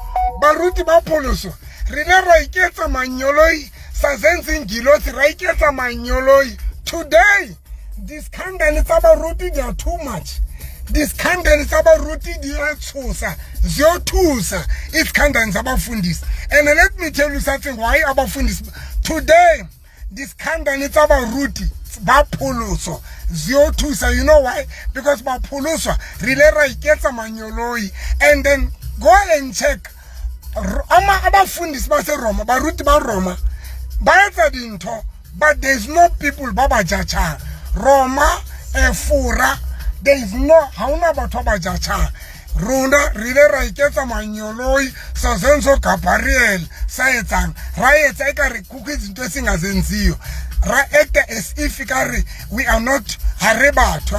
baruti ba pholoso, re ne ra iketsa manyoloi, sa zenza ingilosi, ra iketsa manyoloi. Today, di-scandal tsa baruti, they are too much. Di-scandal tsa baruti di a tshosa, ziyothusa i-scandal zabafundisi. And let me tell you something, why abafundisi today, di-scandal tsa baruti ba pholoso ziyothusa. You know why? Because ba pholoswa re ile ra iketsa manyoloi. And then go and check ama abafundisi baseRoma, baruti ba Roma ba etsa dintho, but there's no people ba ba judging. Roma, Fora, there is no, ha hona batho ba judging. Rona re ile ra iketsa manyoloi, sa zenzo Gabriel sa etsang, ra etsa ekare kukho izinto esingazenziyo, ra act as if kare we are not, ha re batho.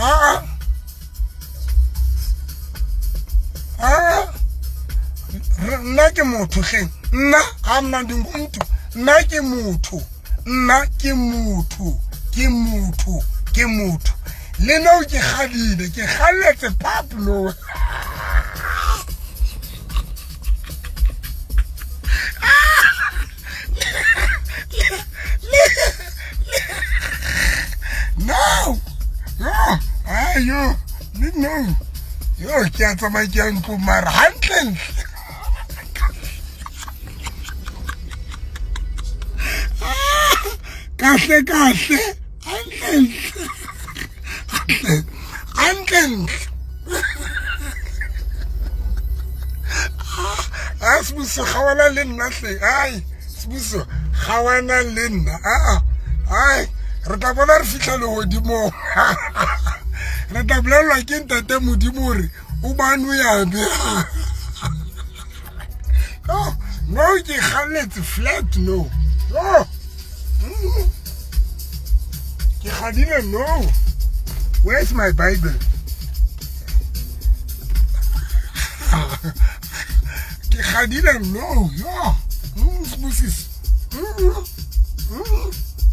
Nna ke motho hleng, nna ha mna ndingumuntu, nna ke motho, nna ke motho, ke motho, ke motho. Le no ke kgadile, ke kgalletse Pablo. No, no, ayo, no, yo ke a tsamaya ke ya ntlong mara hantlentle. Kahle kahle, hantlentle, hantlentle. Ah, Sibusiso gawana le nna hle. Ai, Sibusiso gawana le nna. Ah, ai, re tla bona re fihla lehodimong. Re tla bolellwa ke ntate Modimo hore o bane o yabe. Oh, no, ke kgalletse flat, no. No. Ke kgadile, no. Where's my Bible? Ke kgadile, no. Yo. Sibusiso.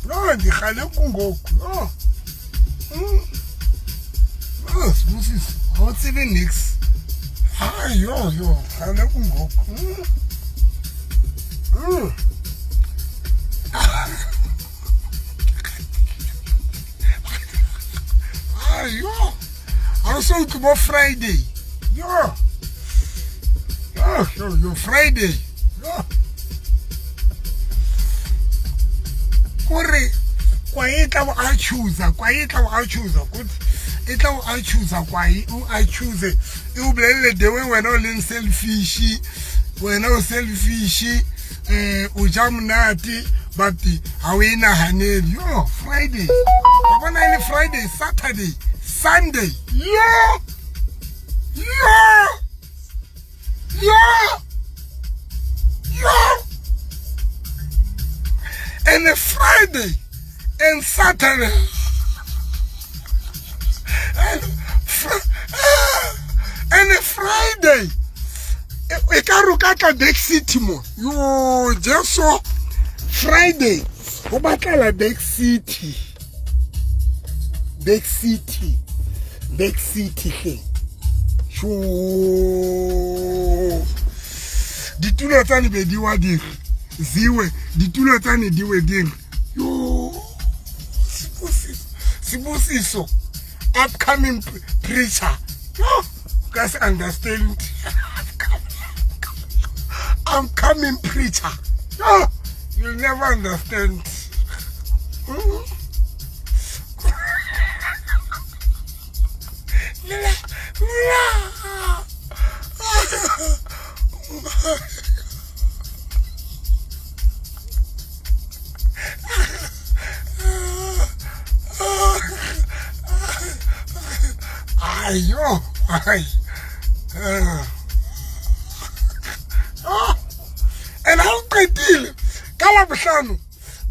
No, ndikhale kungoku. No. No, Sibusiso. Ha o tsebe nix. Ah, yo, yo, khale kungoku. Ah, yo. Also, tomorrow Friday. Yo. Yo. Yo, yo, yo, Friday. Yo. Kore kwa e tla a choose, kwa e tla a choose, e tla a choose kwa e o a choose. E o bolelle the way wena o leng selfish, wena o selfish, o ja monate but ha o e nahanele. Yo, Friday. Wa bona e le Friday, Saturday, Sunday. Yo! Yo! Yo! Yo! And a Friday and Saturday and a Friday e ka re ka tla Back City mo. Yo, Jesu, Friday go batlela Back City. Back City. Back City hle. Sho. Ditulo tsa ne be di wa dire. Ziwe ditulo tsa ne di we dire. Yo. Sibusiso. Upcoming preacher. Yo, guys understand. I'm coming preacher. No, you'll never understand. Ayo, ay. And how qetile ka la bohlano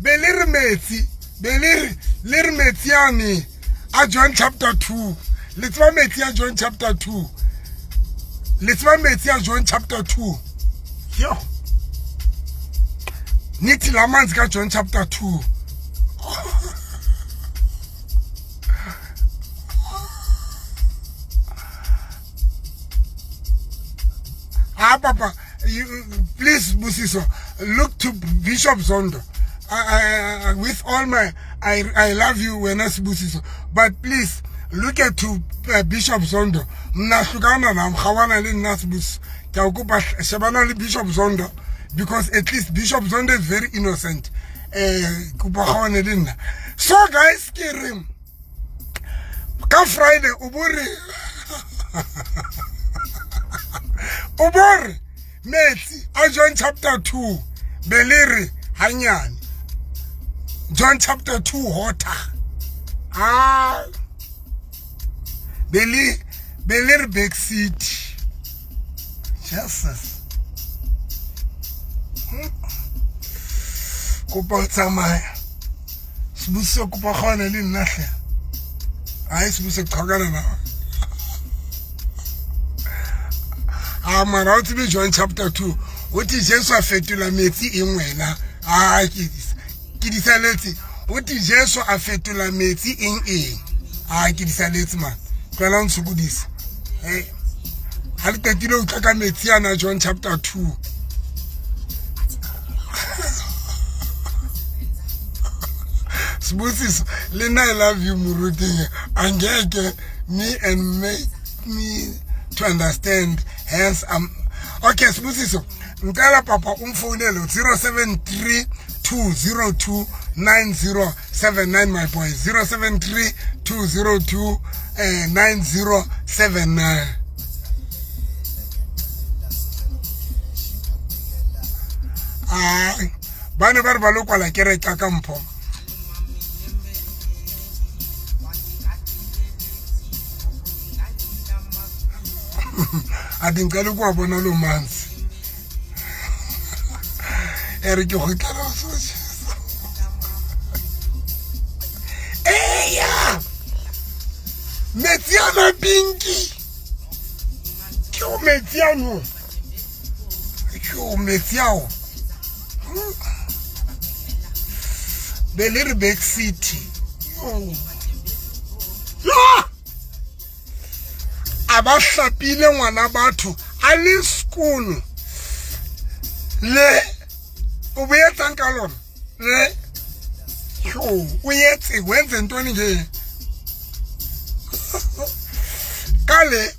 be le re metsi be le re metsi ane a John chapter 2 le tseba metsi a John chapter 2 le tseba metsi a John chapter 2 yo nithi la manzi ka John chapter 2 ah papa, you, please, Busiso, look to Bishop Zondo. I with all my, I love you, Wenas Busiso, but please look at to Bishop Zondo. Mna hlukana na mkhawana le nna Bus. Ke a kopa shebana le Bishop Zondo, because at least Bishop Zondo is very innocent. Kopa khawane le nna. So guys, ke re ka Friday o bore o bore metsi a John chapter 2 be le re hanyane John chapter 2 water ah be le re Back City. Jesus kopa tsamaya Sibusiso kopa kgone le nna hle ai Sibusiso qhakana na ah mara o tsebe John chapter 2 o ti Jesu a fetola metsi eng wena ah ke disaletse o ti Jesu a fetola metsi eng eng ah ke disaletse man tloela ntshokodisa eh ha le qetile o tla ka metsi ana John chapter 2 Sibusiso le nna I love you moruti angeke me and make me to understand. Hence, okay, Sibusiso, ngicela papa umfonele 073-202-9079, my boy. 073-202-9079. Ah, ba ne ba re ba lo kwala kereke ka mpho. A ngicela ukuwabona lo manzi ere ke go tla so eya metsi ana pinki ke o metsi ano ke o metsi ao be le re Back City yo a ba hlapile ngwana batho a le sekolo le o boetsang ka lona le yo o etse wenze ntoni nje ka le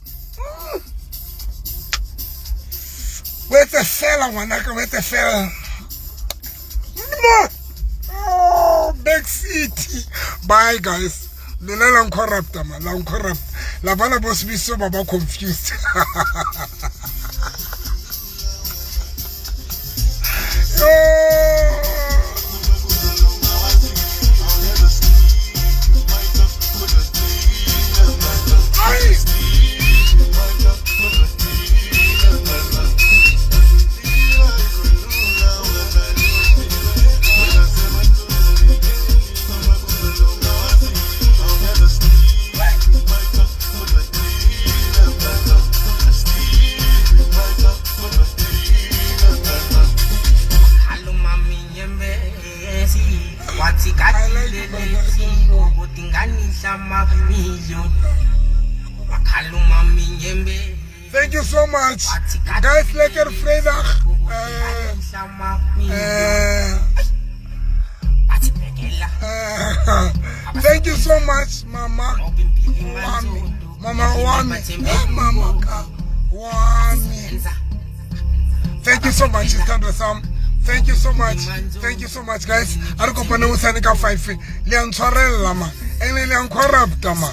O etse fela ngwanaka, o etse fela. Oh, back seat. Bye guys. Lona la ncorrupta man, la ncorrupt. La bana bo Sibiso ba ba confused. Oh. Thank you so much. Guys, lekker vrijdag. Thank you so much, Mama. Wami. Mama Wami. Mama Wami. Thank you so much, Istandwa Sam. Thank you so much. Thank you so much, guys. A re kopane hosane ka 5. Le a ntshwarella ma. Ene le a ncorrupta ma.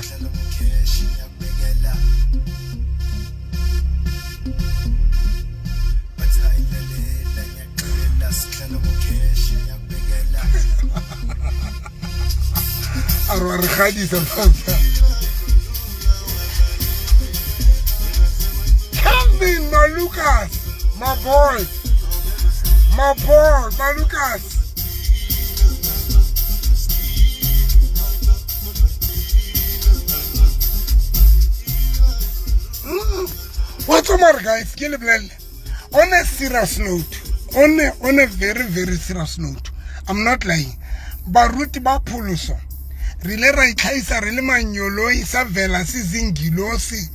Calvin Malukas, my boy, Malukas. What's more, guys? On a serious note, on a very, very serious note, I'm not lying. Baruti ba pholoso re ile ra itlhaisa re le manyoloi sa vela se zingilosi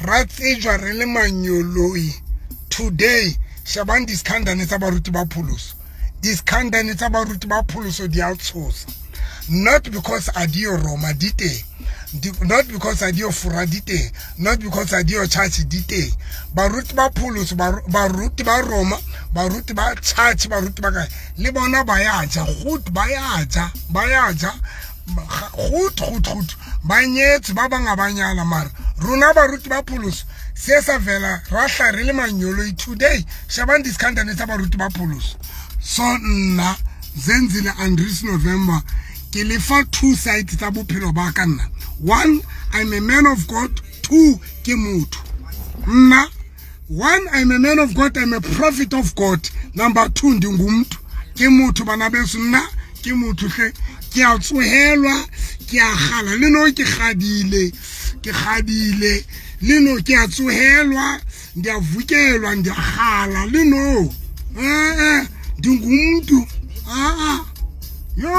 ra tsejwa re le manyoloi. Today shebang diskhandane tsa baruti ba pholoso, diskhandane tsa baruti ba pholoso di a tshosa. Not because a di yo Roma di teng, not because a di yo Fora di teng, not because a di yo church di teng. Baruti ba pholoso, baruti ba Roma, baruti ba church, baruti ba kae le bona ba ya ja, goed ba ya ja, ba ya ja goed goed goed, ba nyetse ba bang ba nyala. Mara rona baruti ba pholoso se sa vela ra hla re le manyoloi. Today shebang diskhandane tsa baruti ba pholoso. So nna Zenzile Andries November ke lefa two sides tsa bophelo ba ka nna. One, I'm a man of God. Two, ke motho. Nna, one, I'm a man of God, I'm a prophet of God. Number two, ndingumntu. Ke motho bana beso, nna ke motho hle. Ke a tsohelwa, ke a gala le no ke gadile, ke gadile le no ke a tsohelwa, ndiyavukelwa, ndiyagala le no. Ndingumntu. Yo,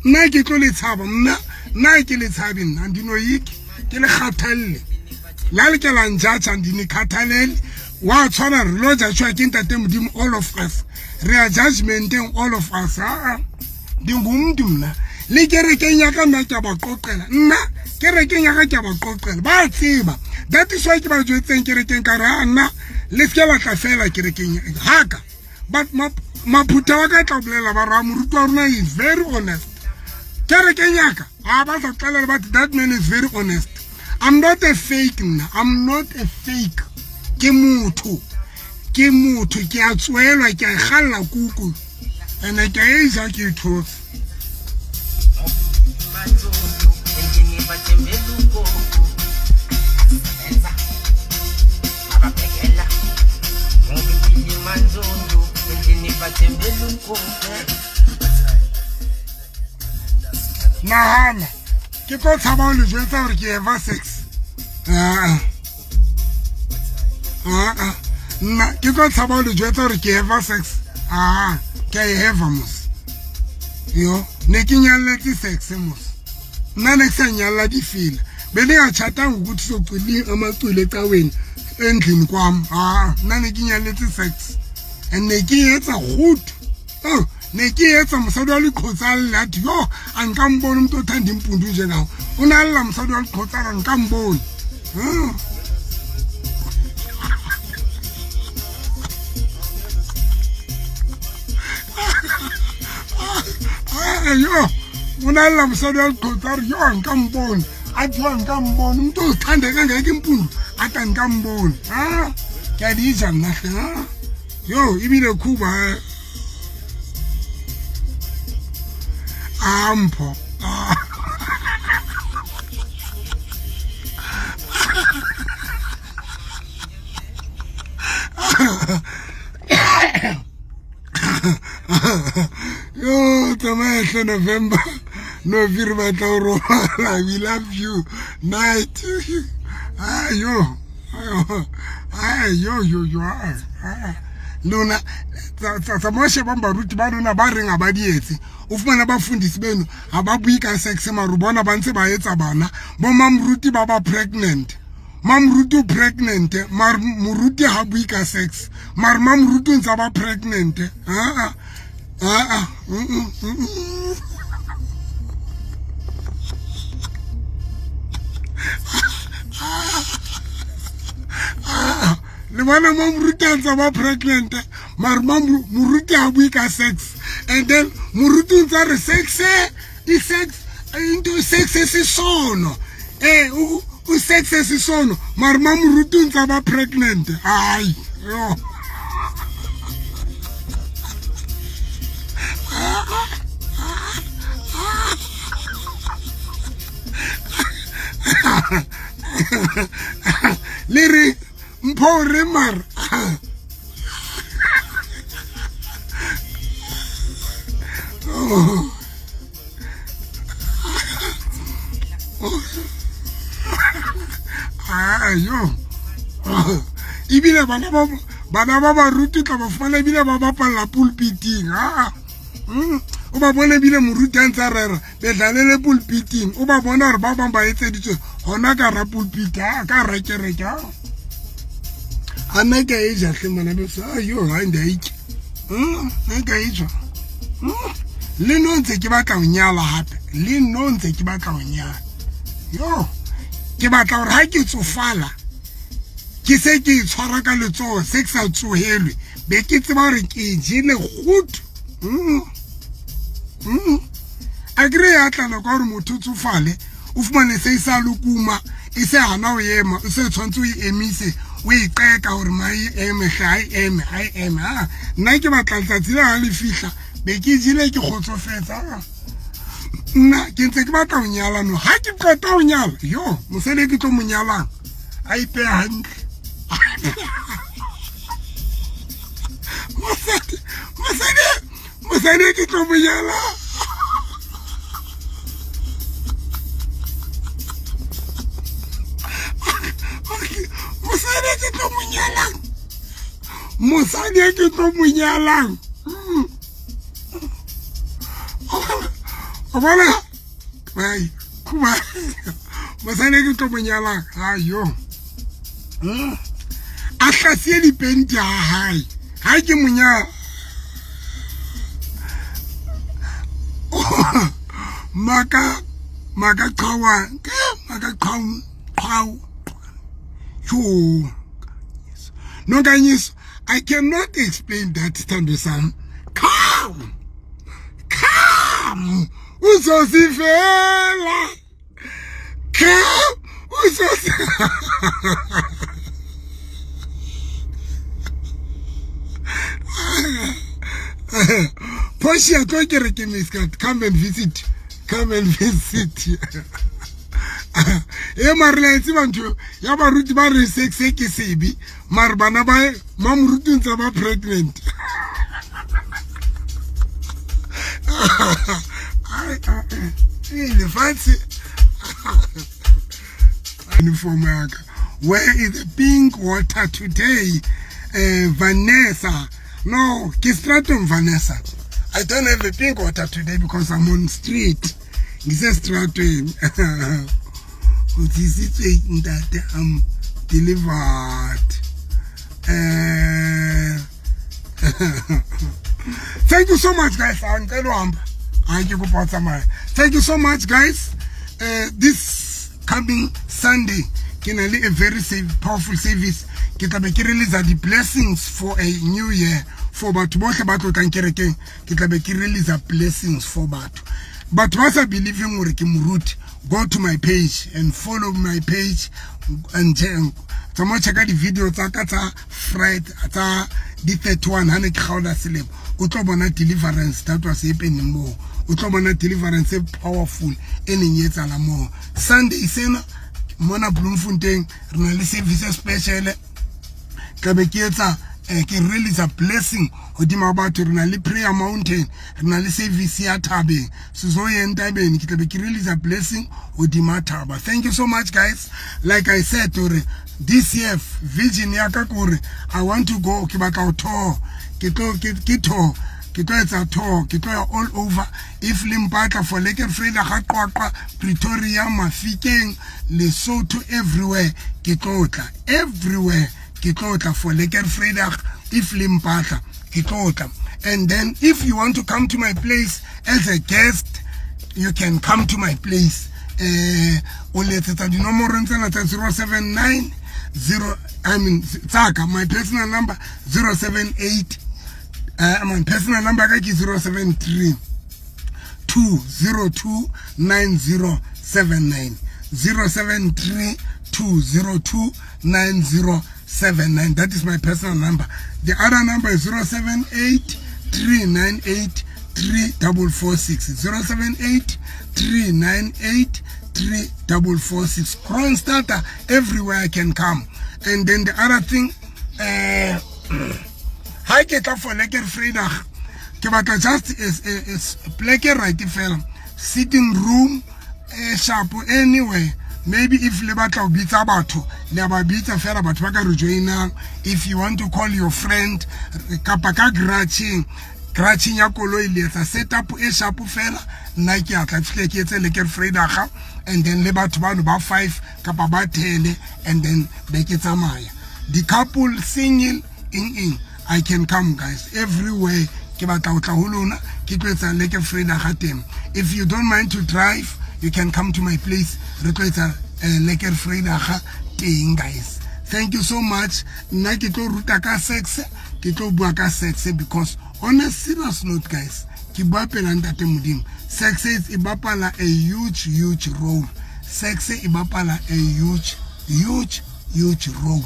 nna ke tlo le tshaba, nna ke le tshabe, nna ndinoyiki, ke le kgathalle. La le ke la njatsa ndinikhathalele. Wa tshwana re lo judge ke Ntate Modimo, all of us. Re a judgmenteng all of us. Ndingumntu mna. Le kerekeng ya ka nna ke a ba qoqela. Nna kerekeng ya ka ke a ba qoqela. Ba tseba. That is why ke ba jwetseng kerekeng ka re nna le se ke batla fela kerekeng haka. But maphutha wa ka tla bolela ba ra moruti wa rona is very honest. Kerekeng ya ka a ba sa tlalela, but that man is very honest. I'm not a fake nna. I'm not a fake. Ke motho. Ke motho, ke a tswelwa, ke a galla kuku. Ene ke a ja ke thotse. Nahana ke tlo tshaba ho le jwetsa hore ke eva sex. Nna ke tlo tshaba ho le jwetsa hore ke eva sex. Ke a e eva mos. Yo, ne ke nyalletse sex mos. Nna ne ke sa nyalla difela. Bendingatshatanga ukuthi socula amaculo ecaweni endlini kwam. Nna ne ke nyalletse sex. And ne ke etsa goed. Oh, ne ke etsa mosadi wa leqhotsa lla athi yo, a nka mbona umuntu othanda impundu njengawe. O ne a lla mosadi wa leqhotsa a re nka mbona. Yo o na lla mosadi wa leqhotsa a re yo nka mpone a tsoa nka mbone umuntu ozithande kangaka impundu ata nka mbone a ke a di ja nna hle yo ebile khuba a mpho yo tsamaya hle November no re batla ho robala. We love you night. Ayo ayo yo yo lona tsa shebang baruti ba lona ba reng ha ba di etse. O fumana bafundisi beno ha ba bue ka sex mare bona ba ntse ba etsa bana. Bo mamruti ba ba pregnant. Mamruti o pregnant mare moruti ha bue ka sex mare mamruti o ntse ba pregnant. Le bona moruti a ntse ba pregnant mare moruti ha bue ka sex and then moruti o ntse re sex e sex into sex e sono o sex e sono mare moruti o ntse ba pregnant. Ai yo le re mpho re mara ayo ebile bana ba baruti tla ba fumana ebile ba bapalla pulpiting. O ba bone ebile moruti a ntse a rera bedlalele pulpiting. O ba bona hore ba bang ba etseditswe hona ka ra pulpit ka ra kereke. A nna ke a e ja hle ngwana beso. Ayo ha nda itse nna ke a e ja. Le no ntse ke batla ho nyala hape. Le no ntse ke batla ho nyala. Yo ke batla hore ha ke tsofala ke se ke itshwara ka letsoho se ke sa tsohelwe be ke tseba hore ke jele kgutu. A kry ya tla nako ya hore motho o tsofale o fumane se e sa lokuma e se hana ho ema o se tshwantse o e emise o e qeka hore ma e eme hle ha e eme ha e eme. Nna ke batla letsatsi le ha le fihla be ke jele ke kgotsofetse. Nna ke ntse ke batla ho nyala no ha ke qeta ho nyala yo mosadi e ke tlo mo nyalang a ipeha hantle. Mosadi e ke tlo mo nyalang mosadi e ke tlo mo nyalang mosadi e ke tlo mo nyalang o bona ai kuma mosadi e ke tlo mo nyalang ayo a hlasie dipenti ha hae ha ke mo nyala maka maka qhawa maka qhaw qhaw yo Nonkanyiso, I cannot explain that Thando sam. Come come uzosifela come uzosi Portia tlo kerekeng miskat come and visit. Come and visit. E mare la tseba ntho ya baruti ba re sex ke sebe mare bana ba mamoruti ntse ba pregnant. Lefatshe uniform ya ka. Where is the pink water today? Vanessa. No, ke stratum Vanessa. I don't have the pink water today because I'm on street. Ngise strateng. I'm delivered. Thank you so much, guys. Thank you so much, guys. This coming Sunday, can I a very powerful service. Ke tla be ke release the blessings for a new year. For batho bohle ba tlo tlang kerekeng, ke tla be ke release blessings for batho. Batho ba sa believing hore ke moruti, go to my page and follow my page and tsamaya checka di-video tsa ka tsa Friday tsa di 31 ha ne ke kgaola selemo. O tlo bona deliverance that was happening moo. O tlo bona deliverance e powerful e neng e etsahala moo. Sunday sena mona Bloemfontein re na le service special, tla be ke etsa ke release a blessing hodima batho. Re na le prayer mountain, re na le service ya thabeng, sizoye entabeni, ke tla be ke release a blessing hodima thaba. Thank you so much guys. Like I said hore this year vision ya ka kore I want to go, ke batla ho tour, ke tlo ke tour, ke tlo etsa tour, ke tlo ya all over. If le mpatla for Lekker Vrydag, Qwaqwa, Pretoria, Mafikeng, Lesotho, everywhere ke tlo tla, everywhere ke tlo tla for Lekker Vrydag. If le mpatla ke tlo tla. And then if you want to come to my place as a guest, you can come to my place. O letsetsa dinomoro tsena tsa 079 0, I mean tsaka my personal number 078, my personal number ka ke 073 202 9079, 073 202 9079. That is my personal number. The other number is 078 398 3446, 078 398 3446. Kroonstad, everywhere I can come. And then the other thing, ha ke tla for Lekker Vrydag, ke batla just is pleke right fela, sitting room sharp anywhere. Maybe if le batla ho bitsa batho, le ba bitsa fela batho ba ka re joinang. If you want to call your friend kapa ka garage ya koloi, le etsa setup e sharp fela. Nna ke a tla fihle ke etse Lekker Vrydag, and then le batho bano ba 5 kapa ba 10, and then be ke tsamaya. The couple single in I can come guys, everywhere. Ke batla ho tla ho lona, ke tlo etsa Lekker Vrydag teng. If you don't mind to drive, you can come to my place. Re tlo etsa Lekker Vrydag teng guys. Thank you so much. Nna ke tlo ruta ka sex, ke tlo bua ka sex, because on a serious note guys, ke bua pela ntate Modimo, sex e bapala a huge huge role. Sex e bapala a huge huge huge role.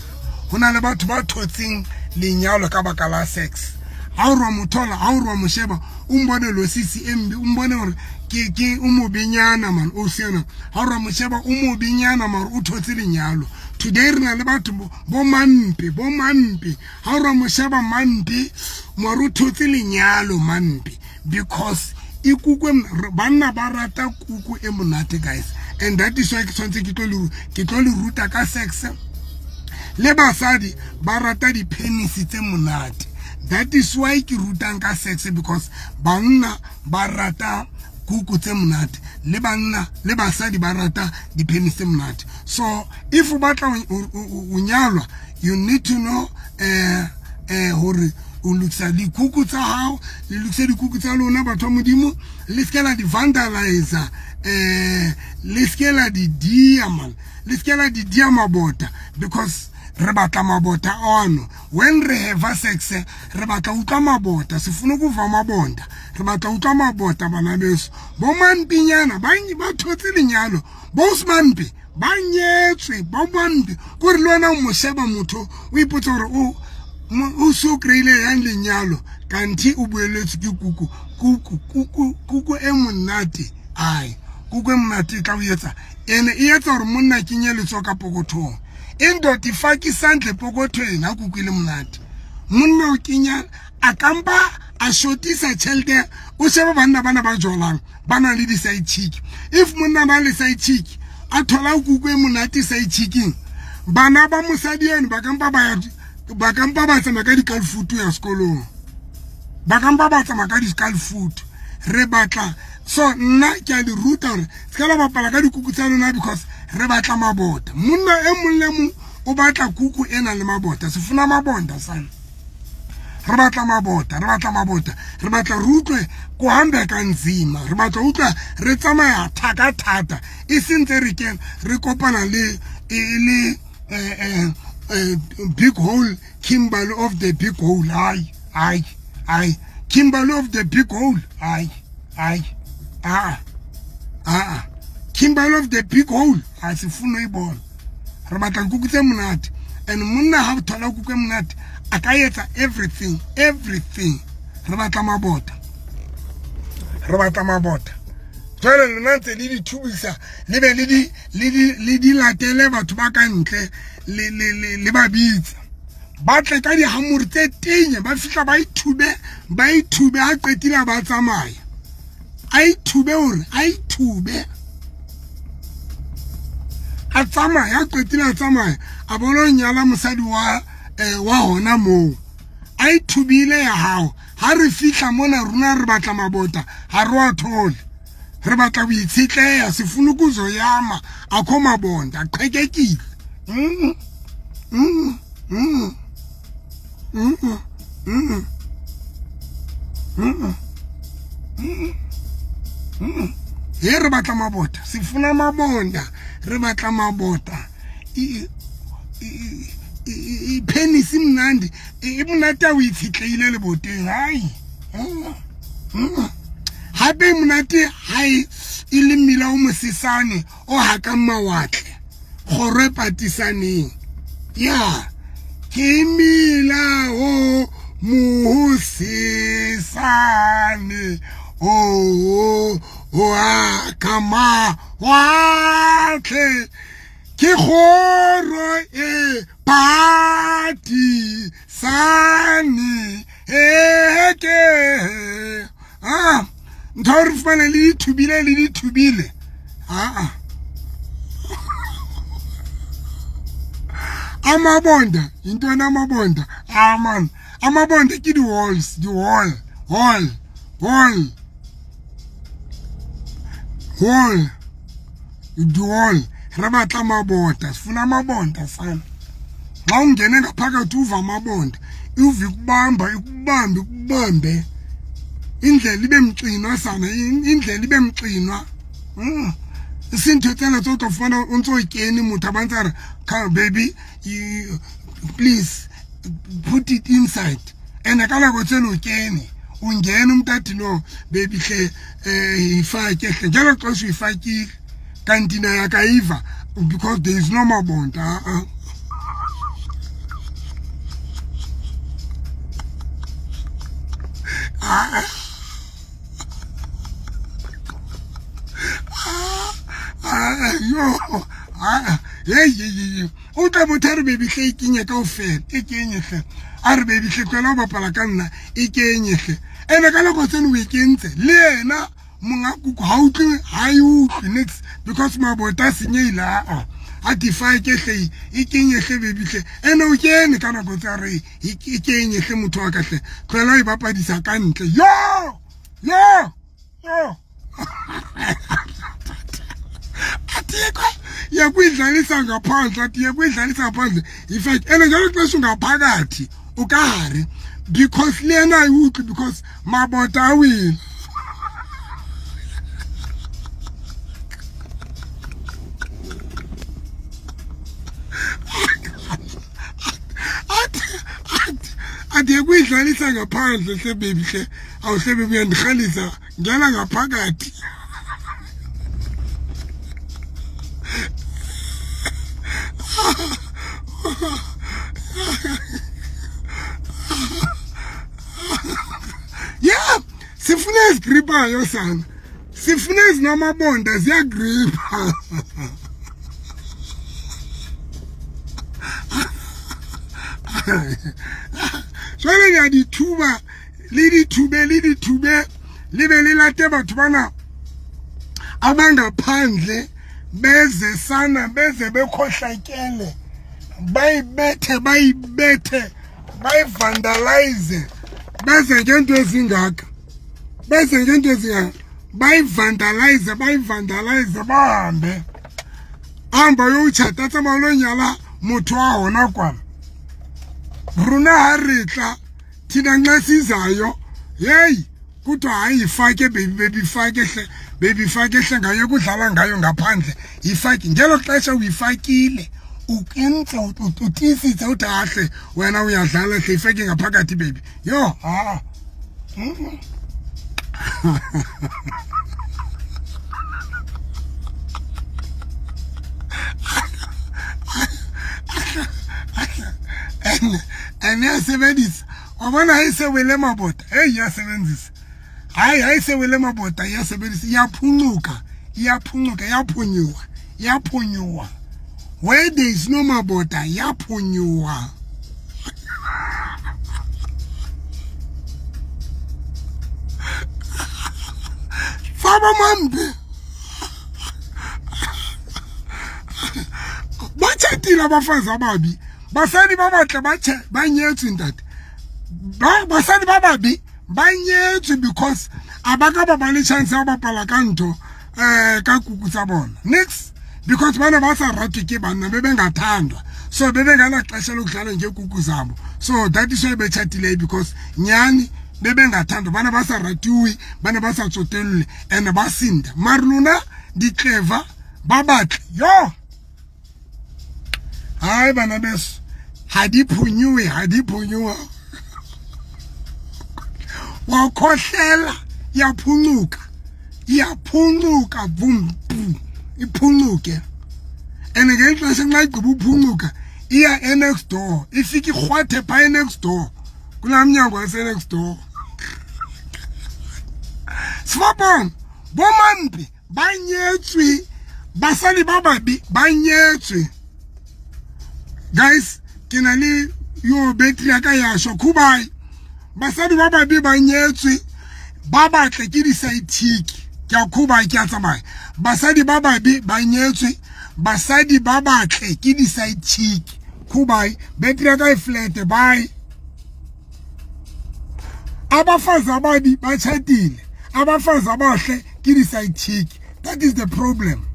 Ho na le batho ba thotseng lenyalo ka baka la sex. Ha o rwa mothola, ha o rwa mosheba, o mbone lo sisi embi, o mbone hore ke o mobenyana man, o sena. Ha o rwa mosheba o mobenyana mare o thotse lenyalo. Today re na le batho bo mampe, bo mampe. Ha o rwa mosheba mampe, mare o thotse lenyalo mampe, because ikukwe banna ba rata kuku e monate guys. And that is why ke tshwanetse ke tlo le ruta ka sex. Le basadi ba rata di-penis tse monate. That is why ke rutang ka sex, because banna ba rata kuku tse monate, le banna le basadi ba rata di-penis tse monate. So if o batla o nyalwa, you need to know hore o lokisa dikuku tsa hao, le lokise dikuku tsa lona batho ba Modimo, le se ke la di vandalize, le se ke la di dia man, le se ke la di dia mabota, because re batla mabota ono. When re have sex, re batla utlwa mabota, se funa kuva mabonda, re batla utlwa mabota bana beso. Bo mampinyana ba thotse lenyalo, bo mampi ba nyetswe, bo mampi kore le wena o mo sheba motho o ipotsa hore o so kreile yang lenyalo, kanti o bueletswe ke kuku kuku kuku kuku e monate. Ai kuku e monate e tla o etsa ene e etsa hore monna kenye letsoho ka pokothong. Indoda ifake isandla epokothweni ha kuku ile monate. Monna o kenya a kampa a shotisa tjhelete, o shebe banna bana ba jolang ba na le di-side chick. If monna ba le side chick a thola kuku e monate side chicking, bana ba mosadi eno ba kampa ba ba kampa ba tsamaya ka di-calfoot ya sekolong, ba kampa ba tsamaya ka di-calfoot. Re batla so nna ke a le ruta hore se ka la bapala ka dikuku tsa lona, because re batla mabota. Monna e mong le mong o batla kuku e nang le mabota, se funa mabonda sana. Re batla mabota, re batla mabota, re batla re utlwe ko hambeka nzima, re batla utlwa re tsamaya thaka thata, e sentse re kena re kopana le big hole, Kimberley of the big hole. Ai ai ai, Kimberley of the big hole. Ai ai ah. Aa Kimberley of the big hole a sifuna uyibona. Re batla nkuku tse monate. And monna ha thola kuku e monate a ka etsa everything, everything. Re batla mabota. Re batla mabota. Jwale lona ntse le di thubisa le be le di latele batho ba ka ntle le ba bitsa. Ba tle ka dihamore tse tenya ba fihla ba ithube ha qetile ba tsamaya. A ithube hore a ithube. A tsamaya qetile a tsamaya a bona nyala mosadi wa hona moo. A ithubile ya hao. Ha re fihla mona rona re batla mabota ha re wa thole. Re batla ho itshetleha sifuna ukuzoyama akho mabonda aqhekekile. He re batla mabota sifuna mabonda re batla mabota i penis imnandi e monate o itshetleile leboteng hai. Hape monate hai e le mmila o mosesane o hakang mawatle kgoro e patisaneng ya ke mmila o mosesane o hakang mawatle ke kgoro e patisane ke ntho re fumane le dithubile a amabonda intwana amabonda man amabonda ke di walls di wall wall wall wall di wall. Re batla mabota sifuna amabonda sana. Xa ungene ngaphakathi uva amabonda uva ikubamba ikubambe ikubambe indlela ibe mxinwa sana indlela ibe mxinwa. Sintho tsena tso tlo fumana o ntso kene motho a bantsa re come baby you, please put it inside and ka nako tseno o kene o ngene umuntu athi no baby hle ifake hle njalo xesha uyifakile kanti naye akayiva because there is no mabonda. Yo hey o tla motho a re baby hle e kenye kaofela e kenye hle a re baby hle tlohela ho bapala ka nna e kenye hle ene ka nako tseno o e kentse le yena monga kuku ha utlwe ha e utlwe nix because mabota a senyehile a defake hle e kenye hle baby hle ene o kene ka nako tsa re e kenye hle motho wa ka hle tlohela ho e bapadisa ka ntle yo yo yo yakuyidlalisa ngaphandle athi yakuyidlalisa ngaphandle in fact ene njalo xesha ungaphakathi ukahare because lena ayiwutlwi because mabota a wile. Athi yakuyidlalisa ngaphandle hle baby hle awuhle baby uyandirhalisa ngena ngaphakathi. Yeah, sifuna ezigripayo sana sifuna ezinamabonda ziyagripa. Jwale le a dithuba le dithube le dithube le be le late batho bana abangaphandle beze sana beze bekhohlakele bayibethe bayibethe bayivandalize beze ngento ezingaka beze ngento ezingaka bayivandalize bayivandalize bahambe hamba uyotshata tsamaya lo nyala motho wa hona kwana rona ha re tla thina nxa sizayo hey kuthiwa hayi ifake baby baby ifake hle baby ifake hle ngayo kudlala ngayo ngaphandle ifake ngelo xesha uyifakile ukentse utisitse uthi ahle wena uyadlala hle ifake ngaphakathi baby yo ha And ya sebedisa wa bona ha e se wele mabota, hey, ya sebenzisa. Hayi ha e se wele mabota, ya sebedisa, ya phuncuka, ya phuncuka, ya phunyoha, ya phunyoha. Where there is no mabota, ya phunyoha. Faba mambe. Ba tjhatile abafazi ababi. Basadi ba batle ba tjhe ba nyetswe ntate. Ba basadi ba babi ba nyetswe because a ba ka ba ba le chance ya bapala ka ntho ka kuku tsa bona. Next, because bana ba sa ratwe ke banna be bengathandwa. So be benganaxesha lokudlala ngekuku zabo. So that is why betjhatile, because nyani be bengathandwa, bana ba sa ratiwe, bana ba sa tsotellwe and ba sinda. Mara lona di clever ba batle. Yo! Hayi bana beso, ha di phunyiwe, ha di phunyiwa. Wa khohlela, ya phuncuka. Ya phuncuka vum pum. Iphuncuke. And ngexesha nxa igqiba uphuncuka, iya next door. Ifike irhwathe pha next door. Kulaa mnyango wase next door. Sifapong, bomampi ba nyetswe, basadi ba babi ba nyetswe. Guys, ke na le yo battery ya ka ya shwa. Khubai. Basadi ba babi ba nyetswe, ba batle ke di-side chick. Ke a khubai, ke a tsamaya. Basadi ba babi ba nyetswe, basadi ba batle ke di-side chick. Khubai, battery ya ka e flat, bye. Abafazi ababi ba tjhatile, abafazi abahle ke di-side chick. That is the problem.